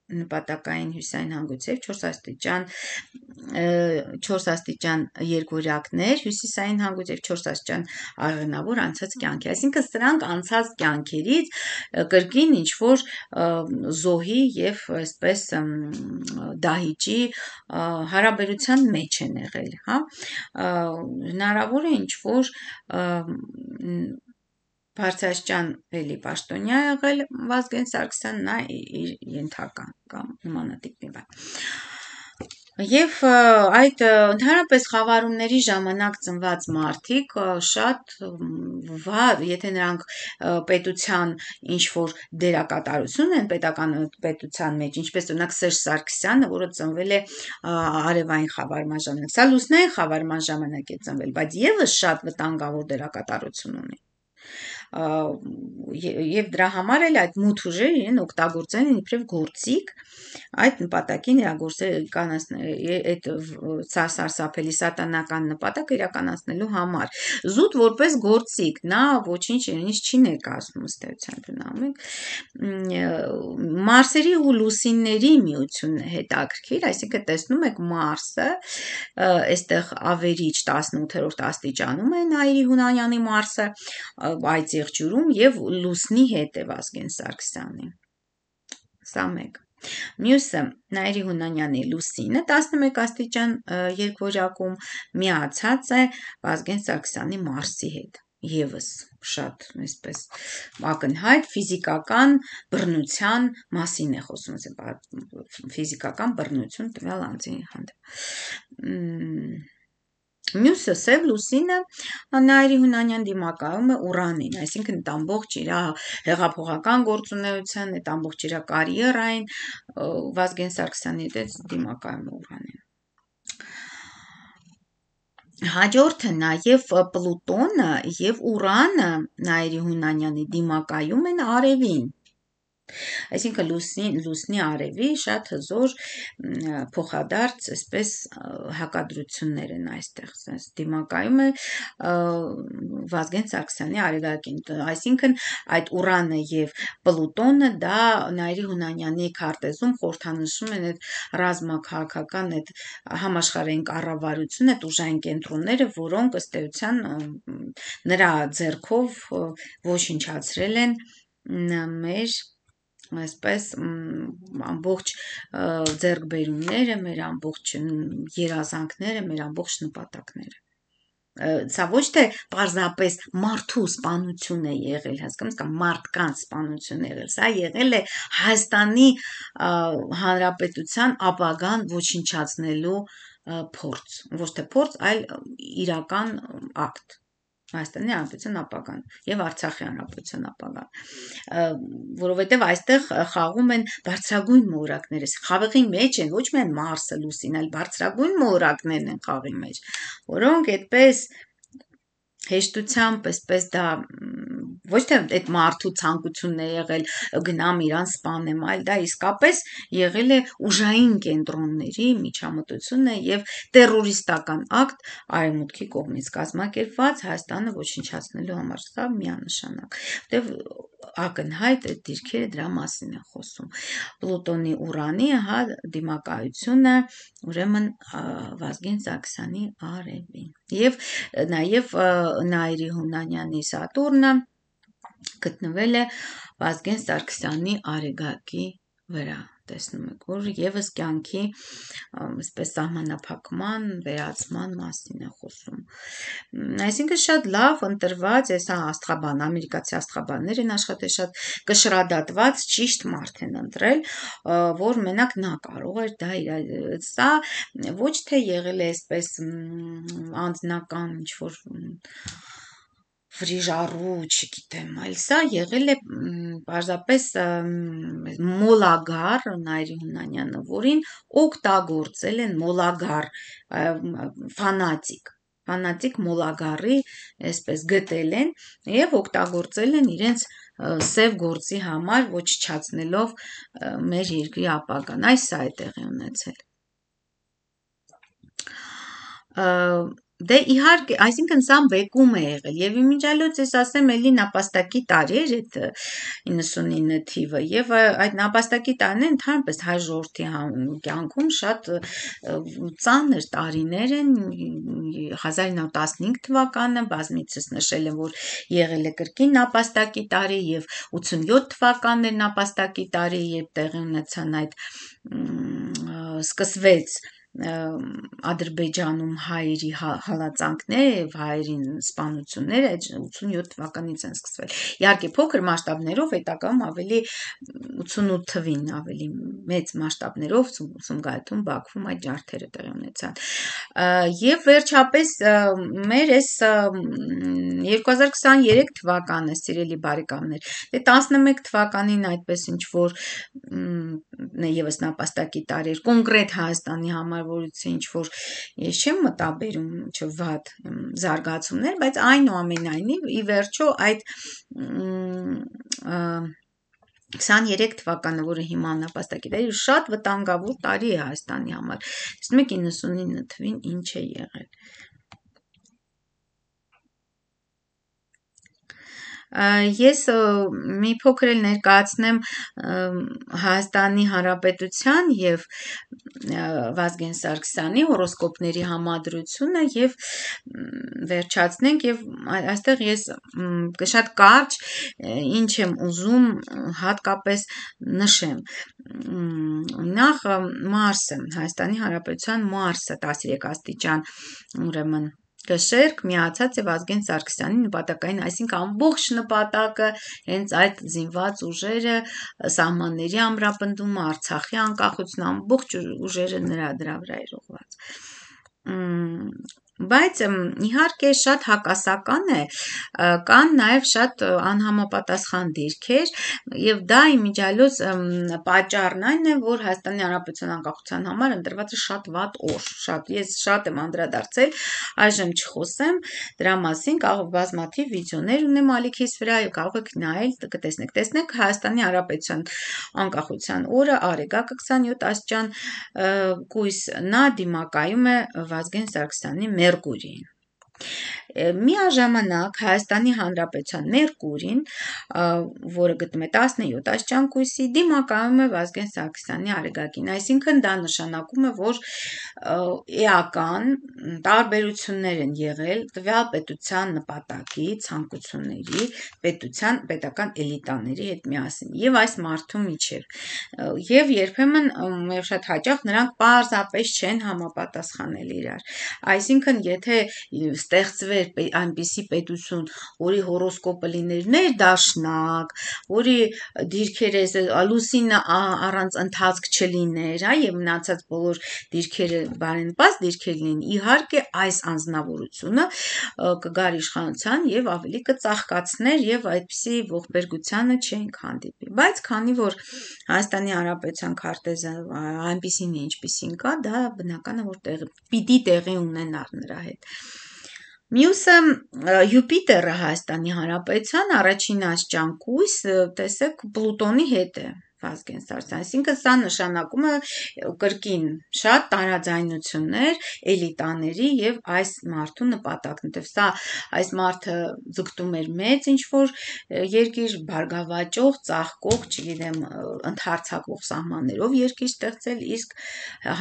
նպատակային հյուսային հանգույցով չորս աստիճան չորս աստիճան երկվորյակներ հյուսիսային հանգույցով չորս աստիճան աղեղնավոր անցած կյանքի, այսինքն սրանք անցած կյանքերից կրկին ինչ որ զոհի եւ այսպես Դահիճի հարաբերության մեջ են եղել, հա, հնարավոր է ինչ որ բարձրաստիճան էլի պաշտոնյա եղել Վազգեն Սարգսյան, նա իր ենթական կամ նմանատիպ մի բան։ Եվ այդ ընդհանրապես խավարումների ժամանակ ծնված մարդիկ շատ վատ, եթե նրանք պետության ինչ որ դերակատարություն են պետական պետության մեջ, ինչպես օրինակ Սերժ Սարգսյանը, որը ծնվել է արևային խավարման ժամանակ, սա լուսնային խավարման ժամանակ է ծնվել, բայց եւս շատ վտանգավոր դերակատարություն ունի։ Եվ դրա համար էլ այդ մութ ուժերը իրեն օգտագործեն իբրև գործիք այդ նպատակին իրականացնել այդ սարսափելի սատանական նպատակը իրականացնելու համար զուտ որպես գործիք նա ոչինչ իրենից չի ներկայացնում ըստ էության դնամը Մարսերի ու լուսինների միությունն է հետաքրքիր, այսինքն տեսնում եք Մարսը այստեղ ավերիչ տասնութերորդ աստիճանում է Նայիրի Հունանյանի Մարսը այդ եղջյուրում եւ լուսնի հետ է Վազգեն Սարգսյանի սա մեկ Մյուսը Նայիրի Հունանյանի լուսինը տասնմեկ աստիճան երկվորյակում միացած է Վազգեն Սարգսյանի Մարսի հետ եւս շատ այսպես ակնհայտ ֆիզիկական բռնության մասին է խոսում ֆիզիկական բռնություն տվյալ անձի հանդեպ Մյուսը սև լուսինը Նայիրի Հունանյան դիմակայում է Ուրանին, այսինքն այդ ամբողջ իր հեղափոխական գործունեության, այդ ամբողջ իր կարիերային Վազգեն Սարգսյանի հետ դիմակայում է Ուրանին։ Հաջորդը նաև Պլուտոնը եւ Ուրանը Նայիրի Հունանյանի դիմակայում են արևին։ Այսինքն լուսնի լուսնի արևի շատ հզոր փոխադարձ այսպես հակադրություններ են այստեղ sense դիմակայում է Վազգեն Սարգսյանի արեգակին այսինքն այդ Ուրանը եւ Պլուտոնը դա Նայիրի Հունանյանի քարտեզում խորհրդանշում են այդ ռազմաքաղաքական այդ համաշխարհային կառավարությունը այդ ուժային կենտրոնները որոնք ըստ էության նրա ձեռքով ոչնչացրել են մեր այսպես ամբողջ ձեռքբերումները, մեր ամբողջ երազանքները, մեր ամբողջ նպատակները։ Սա ոչ թե պարզապես մարդու սպանություն է եղել, հասկանում եք, մարդկանց սպանություն է եղել, սա եղել է Հայաստանի Հանրապետության ապագան ոչնչացնելու փորձ, ոչ թե փորձ, այլ իրական ակտ։ Հայաստանի Հանրապետության ապագան եւ Արցախի Հանրապետության ապագան, որովհետեւ այստեղ խաղում են բարձրագույն մոլորակները, խաղի մեջ են ոչ միայն Մարսը, Լուսին, այլ բարձրագույն մոլորակներն են խաղի մեջ, որոնք այդպես հեշտությամբ այսպես դա ոչ թե այդ մարդու ցանկությունն է եղել գնամ իրան սպանեմ, այլ դա իսկապես եղել է ուժային կենտրոնների միջամտությունը եւ տերորիստական ակտ արևմուտքի կողմից կազմակերպված Հայաստանը ոչնչացնելու համար, սա միանշանակ, որտեւ ակնհայտ այդ դիրքերը դրա մասին են խոսում։ Պլուտոնի Ուրանի հա դիմակայությունը ուրեմն Վազգեն Սարգսյանի արևին եւ նաեւ Նայիրի Հունանյանի Սատուրնը գտնվել է Վազգեն Սարգսյանի արեգակի վրա տեսնում եք, որ եւս կյանքի այսպես սահմանափակման, վերացման մասին է խոսում։ Այսինքն շատ լավ ընտրված, այս աստղաբան, ամերիկացի աստղաբաններ են աշխատել, շատ կշռադատված ճիշտ մարդ են ընտրել, որ մենակ նա կարող էր դա իր սա ոչ թե եղել է այսպես անձնական ինչ-որ վրիժառու, չգիտեմ, այլ սա եղել է պարզապես մոլագար Նայիրի Հունանյանը, որին օգտագործել են մոլագար, ֆանատիկ, ֆանատիկ մոլագարի, այսպես գտել են եւ օգտագործել են իրենց սև գործի համար, ոչնչացնելով մեր երկրի ապագան, այս սա է տեղի ունեցել։ Դե իհարկե, այսինքն սա բեկում է եղել եւ իմիջիալոց ես ասեմ էլի նապաստակի տարի էր այդ իննսունինը թիվը եւ այդ նապաստակի տարիները ընդհանրապես հայ ժողովրդի կյանքում շատ ծանր տարիներ են հազար իննսուն տասնհինգ թվականը բազմիցս նշել եմ որ եղել է կրկին նապաստակի տարի եւ ութսունյոթ թվականն էր նապաստակի տարի երբ տեղի ունեցան այդ սկսվեց Ադրբեջանում հայերի հալածանքները եւ հայերին սպանությունները ութսունյոթ թվականից են սկսվել։ Իհարկե փոքր մասշտաբներով հետագայում ավելի ութսունութ թվին ավելի մեծ մասշտաբներով Սումգայիթում, Բաքվում այդ ջարդերը տեղի ունեցան։ Եվ վերջապես մեր այս երկու հազար քսաներեք թվականը, սիրելի բարեկամներ, դե տասնմեկ թվականին այդպես ինչ որ եւս նապաստակի տարի էր կոնկրետ Հայաստանի համար որից ինչ որ ես չեմ մտաբերում չվատ զարգացումներ, բայց այնուամենայնիվ ի վերջո այդ քսաներեք թվականը, որը հիմա նապաստակի տարի է, շատ վտանգավոր տարի է Հայաստանի համար։ Տեսնում եք իննսունինը թվին ինչ է եղել։ Ես մի փոքր էլ ներկայացնեմ Հայաստանի Հանրապետության եւ Վազգեն Սարգսյանի հորոսկոպների համադրությունը եւ վերջացնենք եւ այստեղ ես շատ կարճ ինչ եմ ուզում հատկապես նշեմ նախ Մարսը Հայաստանի Հանրապետության Մարսը տասներեք աստիճան ուրեմն Կշերք միացած է Վազգեն Սարգսյանի նպատակային, այսինքն ամբողջ նպատակը հենց այդ զինված ուժերը սահմանների ամրապնդումը, Արցախի անկախությունը, ամբողջ ուժերը նրա դրա վրա էր ուղղված։ Բայց իհարկե շատ հակասական է, կան նաև շատ անհամապատասխան դիրքեր եւ դա իմիջիալոց պատճառն այն է, որ Հայաստանի Հանրապետության անկախության համար ընտրված է շատ վատ օր, շատ ես շատ եմ անդրադարձել, այժմ չխոսեմ դրա մասին, կարող բազմաթիվ վիդեոներ ունեմ ալիքիս վրա եւ կարող եք նայել, կտեսնեք, տեսնեք Հայաստանի Հանրապետության անկախության օրը Արեգակը քսաներեք աստիճան կույս նա դիմակայում է Վազգեն Սարգսյանի Մերկուրիին։ Միաժամանակ Հայաստանի Հանրապետության Մերկուրին, որը գտնվում է տասնյոթ աստիճան կույսի, դիմակայում է Վազգեն Սարգսյանի Արեգակին, այսինքն դա նշանակում է, որ էական տարբերություններ են եղել տվյալ պետության նպատակի, ցանկությունների, պետության, պետական էլիտաների հետ միասին եւ այս մարդու միջև։ Եվ երբեմն եւ շատ հաճախ նրանք պարզապես չեն համապատասխանել իրար։ Այսինքն, եթե ստեղծվեր այնպիսի պետություն, որի հորոսկոպը լիներ ներդաշնակ, որի դիրքերը լուսինը առանց ընթացք չլիներ, հա, եւ մնացած բոլոր դիրքերը բարենպաստ դիրքեր լինեն, իհարկե այս անձնավորությունը կգար իշխանության եւ ավելի կծաղկացներ եւ այդպիսի ողբերգությանը չենք հանդիպի։ Բայց քանի որ Հայաստանի Հանրապետության քարտեզը այնպիսին է, ինչպիսին կա, դա բնական է, որ տեղ, պիտի տեղի ունենար նրա հետ։ Մյուսը Յուպիտերը Հայաստանի Հանրապետության առաջին աստիճան կույս, տեսեք, Պլուտոնի հետ է Վազգեն Սարգսյանը, այսինքն սա նշանակում է կրկին շատ տարաձայնություններ էլիտաների եւ այս մարդու նպատակն է, սա այս մարդը ձգտում էր մեծ ինչ-որ երկիր բարգավաճող, ծաղկող, չգիտեմ, ընդհարցակվող սահմաններով երկիր ստեղծել, իսկ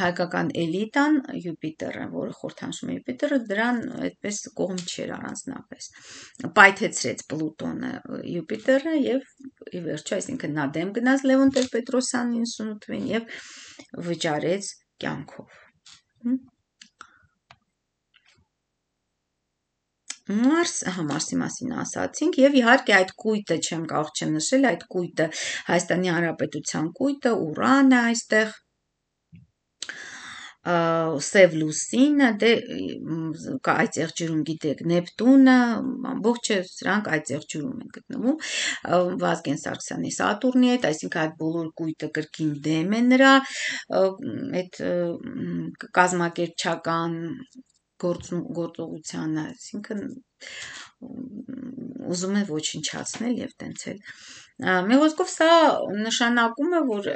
հայկական էլիտան Յուպիտերը, որը խորհրդանշում է Յուպիտերը, դրան այդպես կողմ չէր առանձնապես, պայթեցրեց Պլուտոնը Յուպիտերը եւ ի վերջո, այսինքն նա դեմ գնաց Լևոն Սիմոն Տեր-Պետրոսյանին Սունութվին եւ վճարեց կյանքով։ Մարս, հա, Մարսի մասին ասացինք եւ իհարկե այդ կույտը չեմ կարող չնշել, այդ կույտը Հայաստանի Հանրապետության կույտը, ուրանը այստեղ Սև լուսինը, դե այծեղ ջրում գիտեք Նեպտունը, ամբողջը սրանք այծեղ ջրում են գտնվում Վազգեն Սարգսյանի Սատուրնի հետ, այսինքն այդ բոլոր կույտը կրկին դեմ է նրա այդ կազմակերպչական գործողությանը, այսինքն ուզում է ոչնչացնել եւ տենցել մի խոսքով սա նշանակում է, որ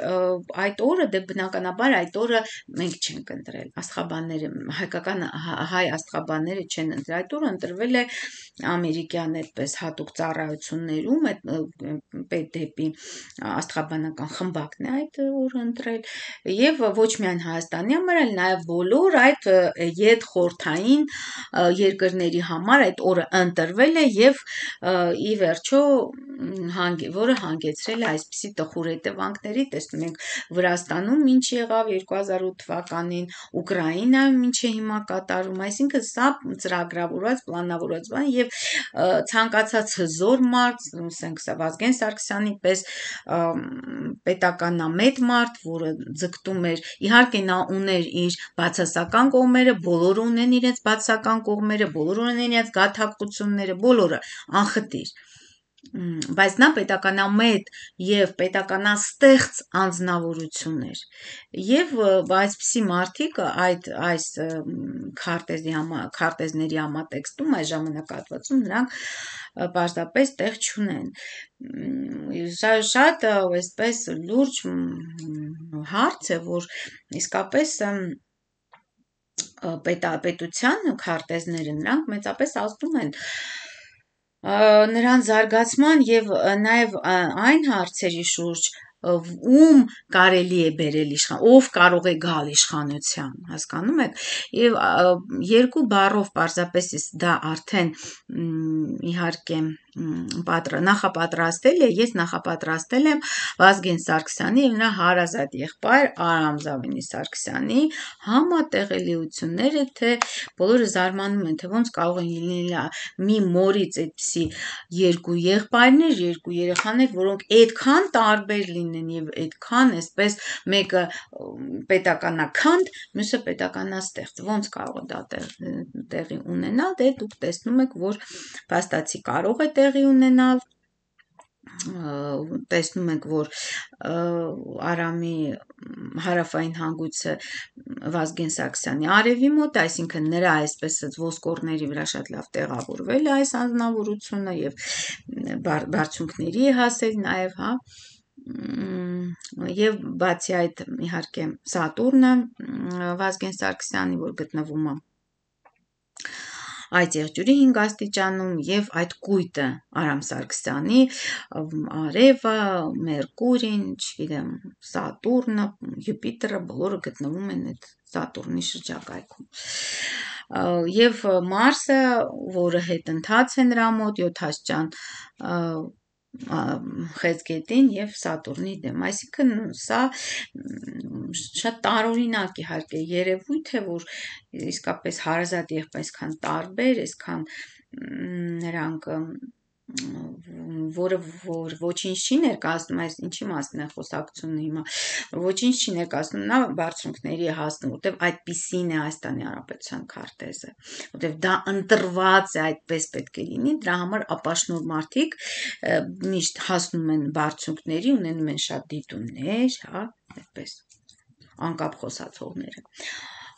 այդ օրը դե բնականաբար այդ օրը մենք չենք ընտրել աստղաբանները, հայկական հայ աստղաբանները չեն ընտրել, այդ օրը ընտրվել է ամերիկյան այդպես հատուկ ծառայություններում այդ դեպի աստղաբանական խմբակն է այդ օրը ընտրել եւ ոչ միայն Հայաստանի համար, այլ նաեւ բոլոր այդ ետ խորթային երկրների համար այդ օրը ընտրվել է եւ ի վերջո որը հանգեցրել է այսպիսի տխուր հետևանքների, տեսնում ենք Վրաստանում ինչ եղավ երկու հազար ութ թվականին, Ուկրաինայում ինչ է հիմա կատարում, այսինքն սա ծրագրավորված, պլանավորված բան եւ ցանկացած հզոր մարդ, ասենք սա Վազգեն Սարգսյանի պես պետականամետ մարդ, որը ձգտում էր, իհարկե նա ուներ իր բացասական կողմերը, բոլորը ունեն իրենց բացասական կողմերը, բոլորը ունեն իրենց գաթակղությունները, բոլորը անխտիր բայց նա պետականամետ եւ պետականաստեղծ անձնավորություններ եւ այսպիսի մարդիկ այդ այս քարտեզի համա քարտեզների համատեքստում այս ժամանակահատվածում նրանք պարզապես տեղ չունեն շատ այսպես լուրջ հարց է որ իսկապես պետության քարտեզները նրանք մեծապես ազդում են նրան զարգացման եւ նաեւ այն հարցերի շուրջ ում կարելի է բերել իշխան ով կարող է գալ իշխանության հասկանում եք եւ երկու բառով պարզապես դա արդեն իհարկե նախապատրաստել է ես նախապատրաստել եմ Վազգեն Սարգսյանի եւ նրա հարազատ եղբայր Արամ Զավենի Սարգսյանի համատեղելիությունները թե բոլորը զարմանում են թե ոնց կարող են լինել մի մորից այդպիսի երկու եղբայրներ, երկու երեխաներ, որոնք այդքան տարբեր լինեն եւ այդքան այսպես մեկը պետականաքանդ, մյուսը պետականաստեղծ, ոնց կարող է դա տեղի ունենալ, դե դուք տեսնում եք, որ փաստացի կարող է տեղի ունենալ տեսնում ենք, որ Արամի հարավային հանգույցը Վազգեն Սարգսյանի արևի մոտ, այսինքն նրա այսպես ոսկորների վրա շատ լավ տեղավորվել է այս անձնավորությունը եւ բարձունքների է հասել նաեւ, հա եւ բացի այդ իհարկե Սատուրնը Վազգեն Սարգսյանի, որ գտնվում է այդ եղջյուրի հինգ աստիճանում եւ այդ կույտը Արամ Սարգսյանի արևը, Մերկուրին, չգիտեմ, Սատուրնը, Յուպիտերը բոլորը գտնվում են այդ Սատուրնի շրջակայքում։ Եվ Մարսը, որը հետընթաց է նրա մոտ յոթ աստիճան Խեցգետին եւ Սատուրնի դեմ, այսինքն սա շատ տարօրինակ իհարկե երևույթ է, որ իսկապես հարազատ եղբայր այսքան տարբեր, այսքան նրանք որը որ ոչինչ չի ներկայացնում, այս ինչի մասն է խոսակցությունը հիմա, ոչինչ չի ներկայացնում, նա բարձունքների է հասնում, որտեվ այդպիսին է Հայաստանի Հանրապետության քարտեզը, որտեվ դա ընտրված է, այդպես պետք է լինի, դրա համար ապաշնոր մարդիկ միշտ հասնում են բարձունքների, ունենում են շատ դիտումներ, հա, այդպես անկապ խոսացողները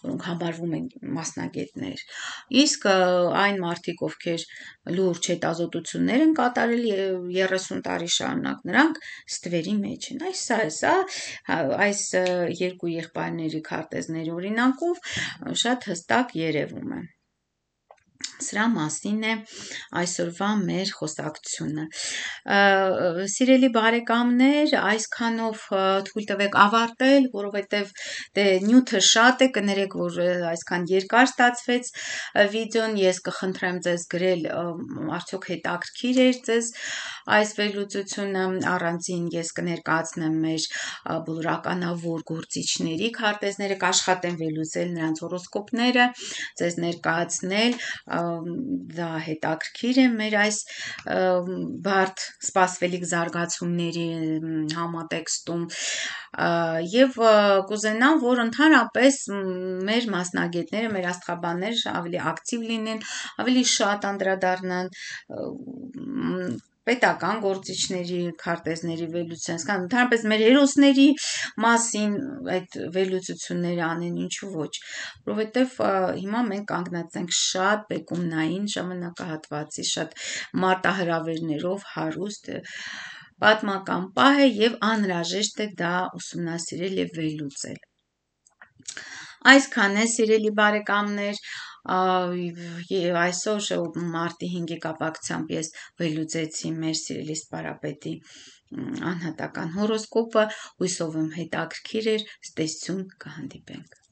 որոնք համարվում են մասնագետներ, իսկ այն մարդիկ, ովքեր լուրջ հետազոտություններ են կատարել երեսուն տարի շարունակ, նրանք ստվերի մեջ են, այս սա է, սա այս երկու եղբայրների քարտեզների օրինակով շատ հստակ երևում է, Սրա մասին է այսօրվա մեր խոսակցությունը։ Սիրելի բարեկամներ, այսքանով թույլ տվեք ավարտել, որովհետև դե նյութը շատ է, կներեք, որ այսքան երկար ստացվեց վիդեոն, ես կխնդրեմ ձեզ գրել, արդյոք հետաքրքիր էր ձեզ այս վերլուծությունը, առանձին ես կներկայացնեմ մեր բոլորականավոր գործիչների քարտեզները, կաշխատեմ վերլուծել նրանց հորոսկոպները, ձեզ ներկայացնել, դա հետաքրքիր է մեր այս բարդ սպասվելիք զարգացումների համատեքստում եւ կուզենամ, որ ընդհանրապես մեր մասնագետները, մեր աստղաբանները ավելի ակտիվ լինեն, ավելի շատ անդրադառնան պետական գործիչների քարտեզների վերլուծության, ընդհանրապես մեր հերոսների մասին այդ վերլուծությունները անեն, ինչու ոչ, որովհետև հիմա մենք կանգնած ենք շատ բեկումնային ժամանակահատվածի, շատ մարտահրավերներով հարուստ պատմական պահ է եւ անհրաժեշտ է դա ուսումնասիրել եւ վերլուծել։ Այսքան է, սիրելի բարեկամներ, այսօր մարտի հինգի կապակցությամբ ես վերլուծեցի մեր սիրելի սպարապետի անհատական հորոսկոպը, հույսով եմ հետաքրքիր էր, ցտեսություն, կհանդիպենք։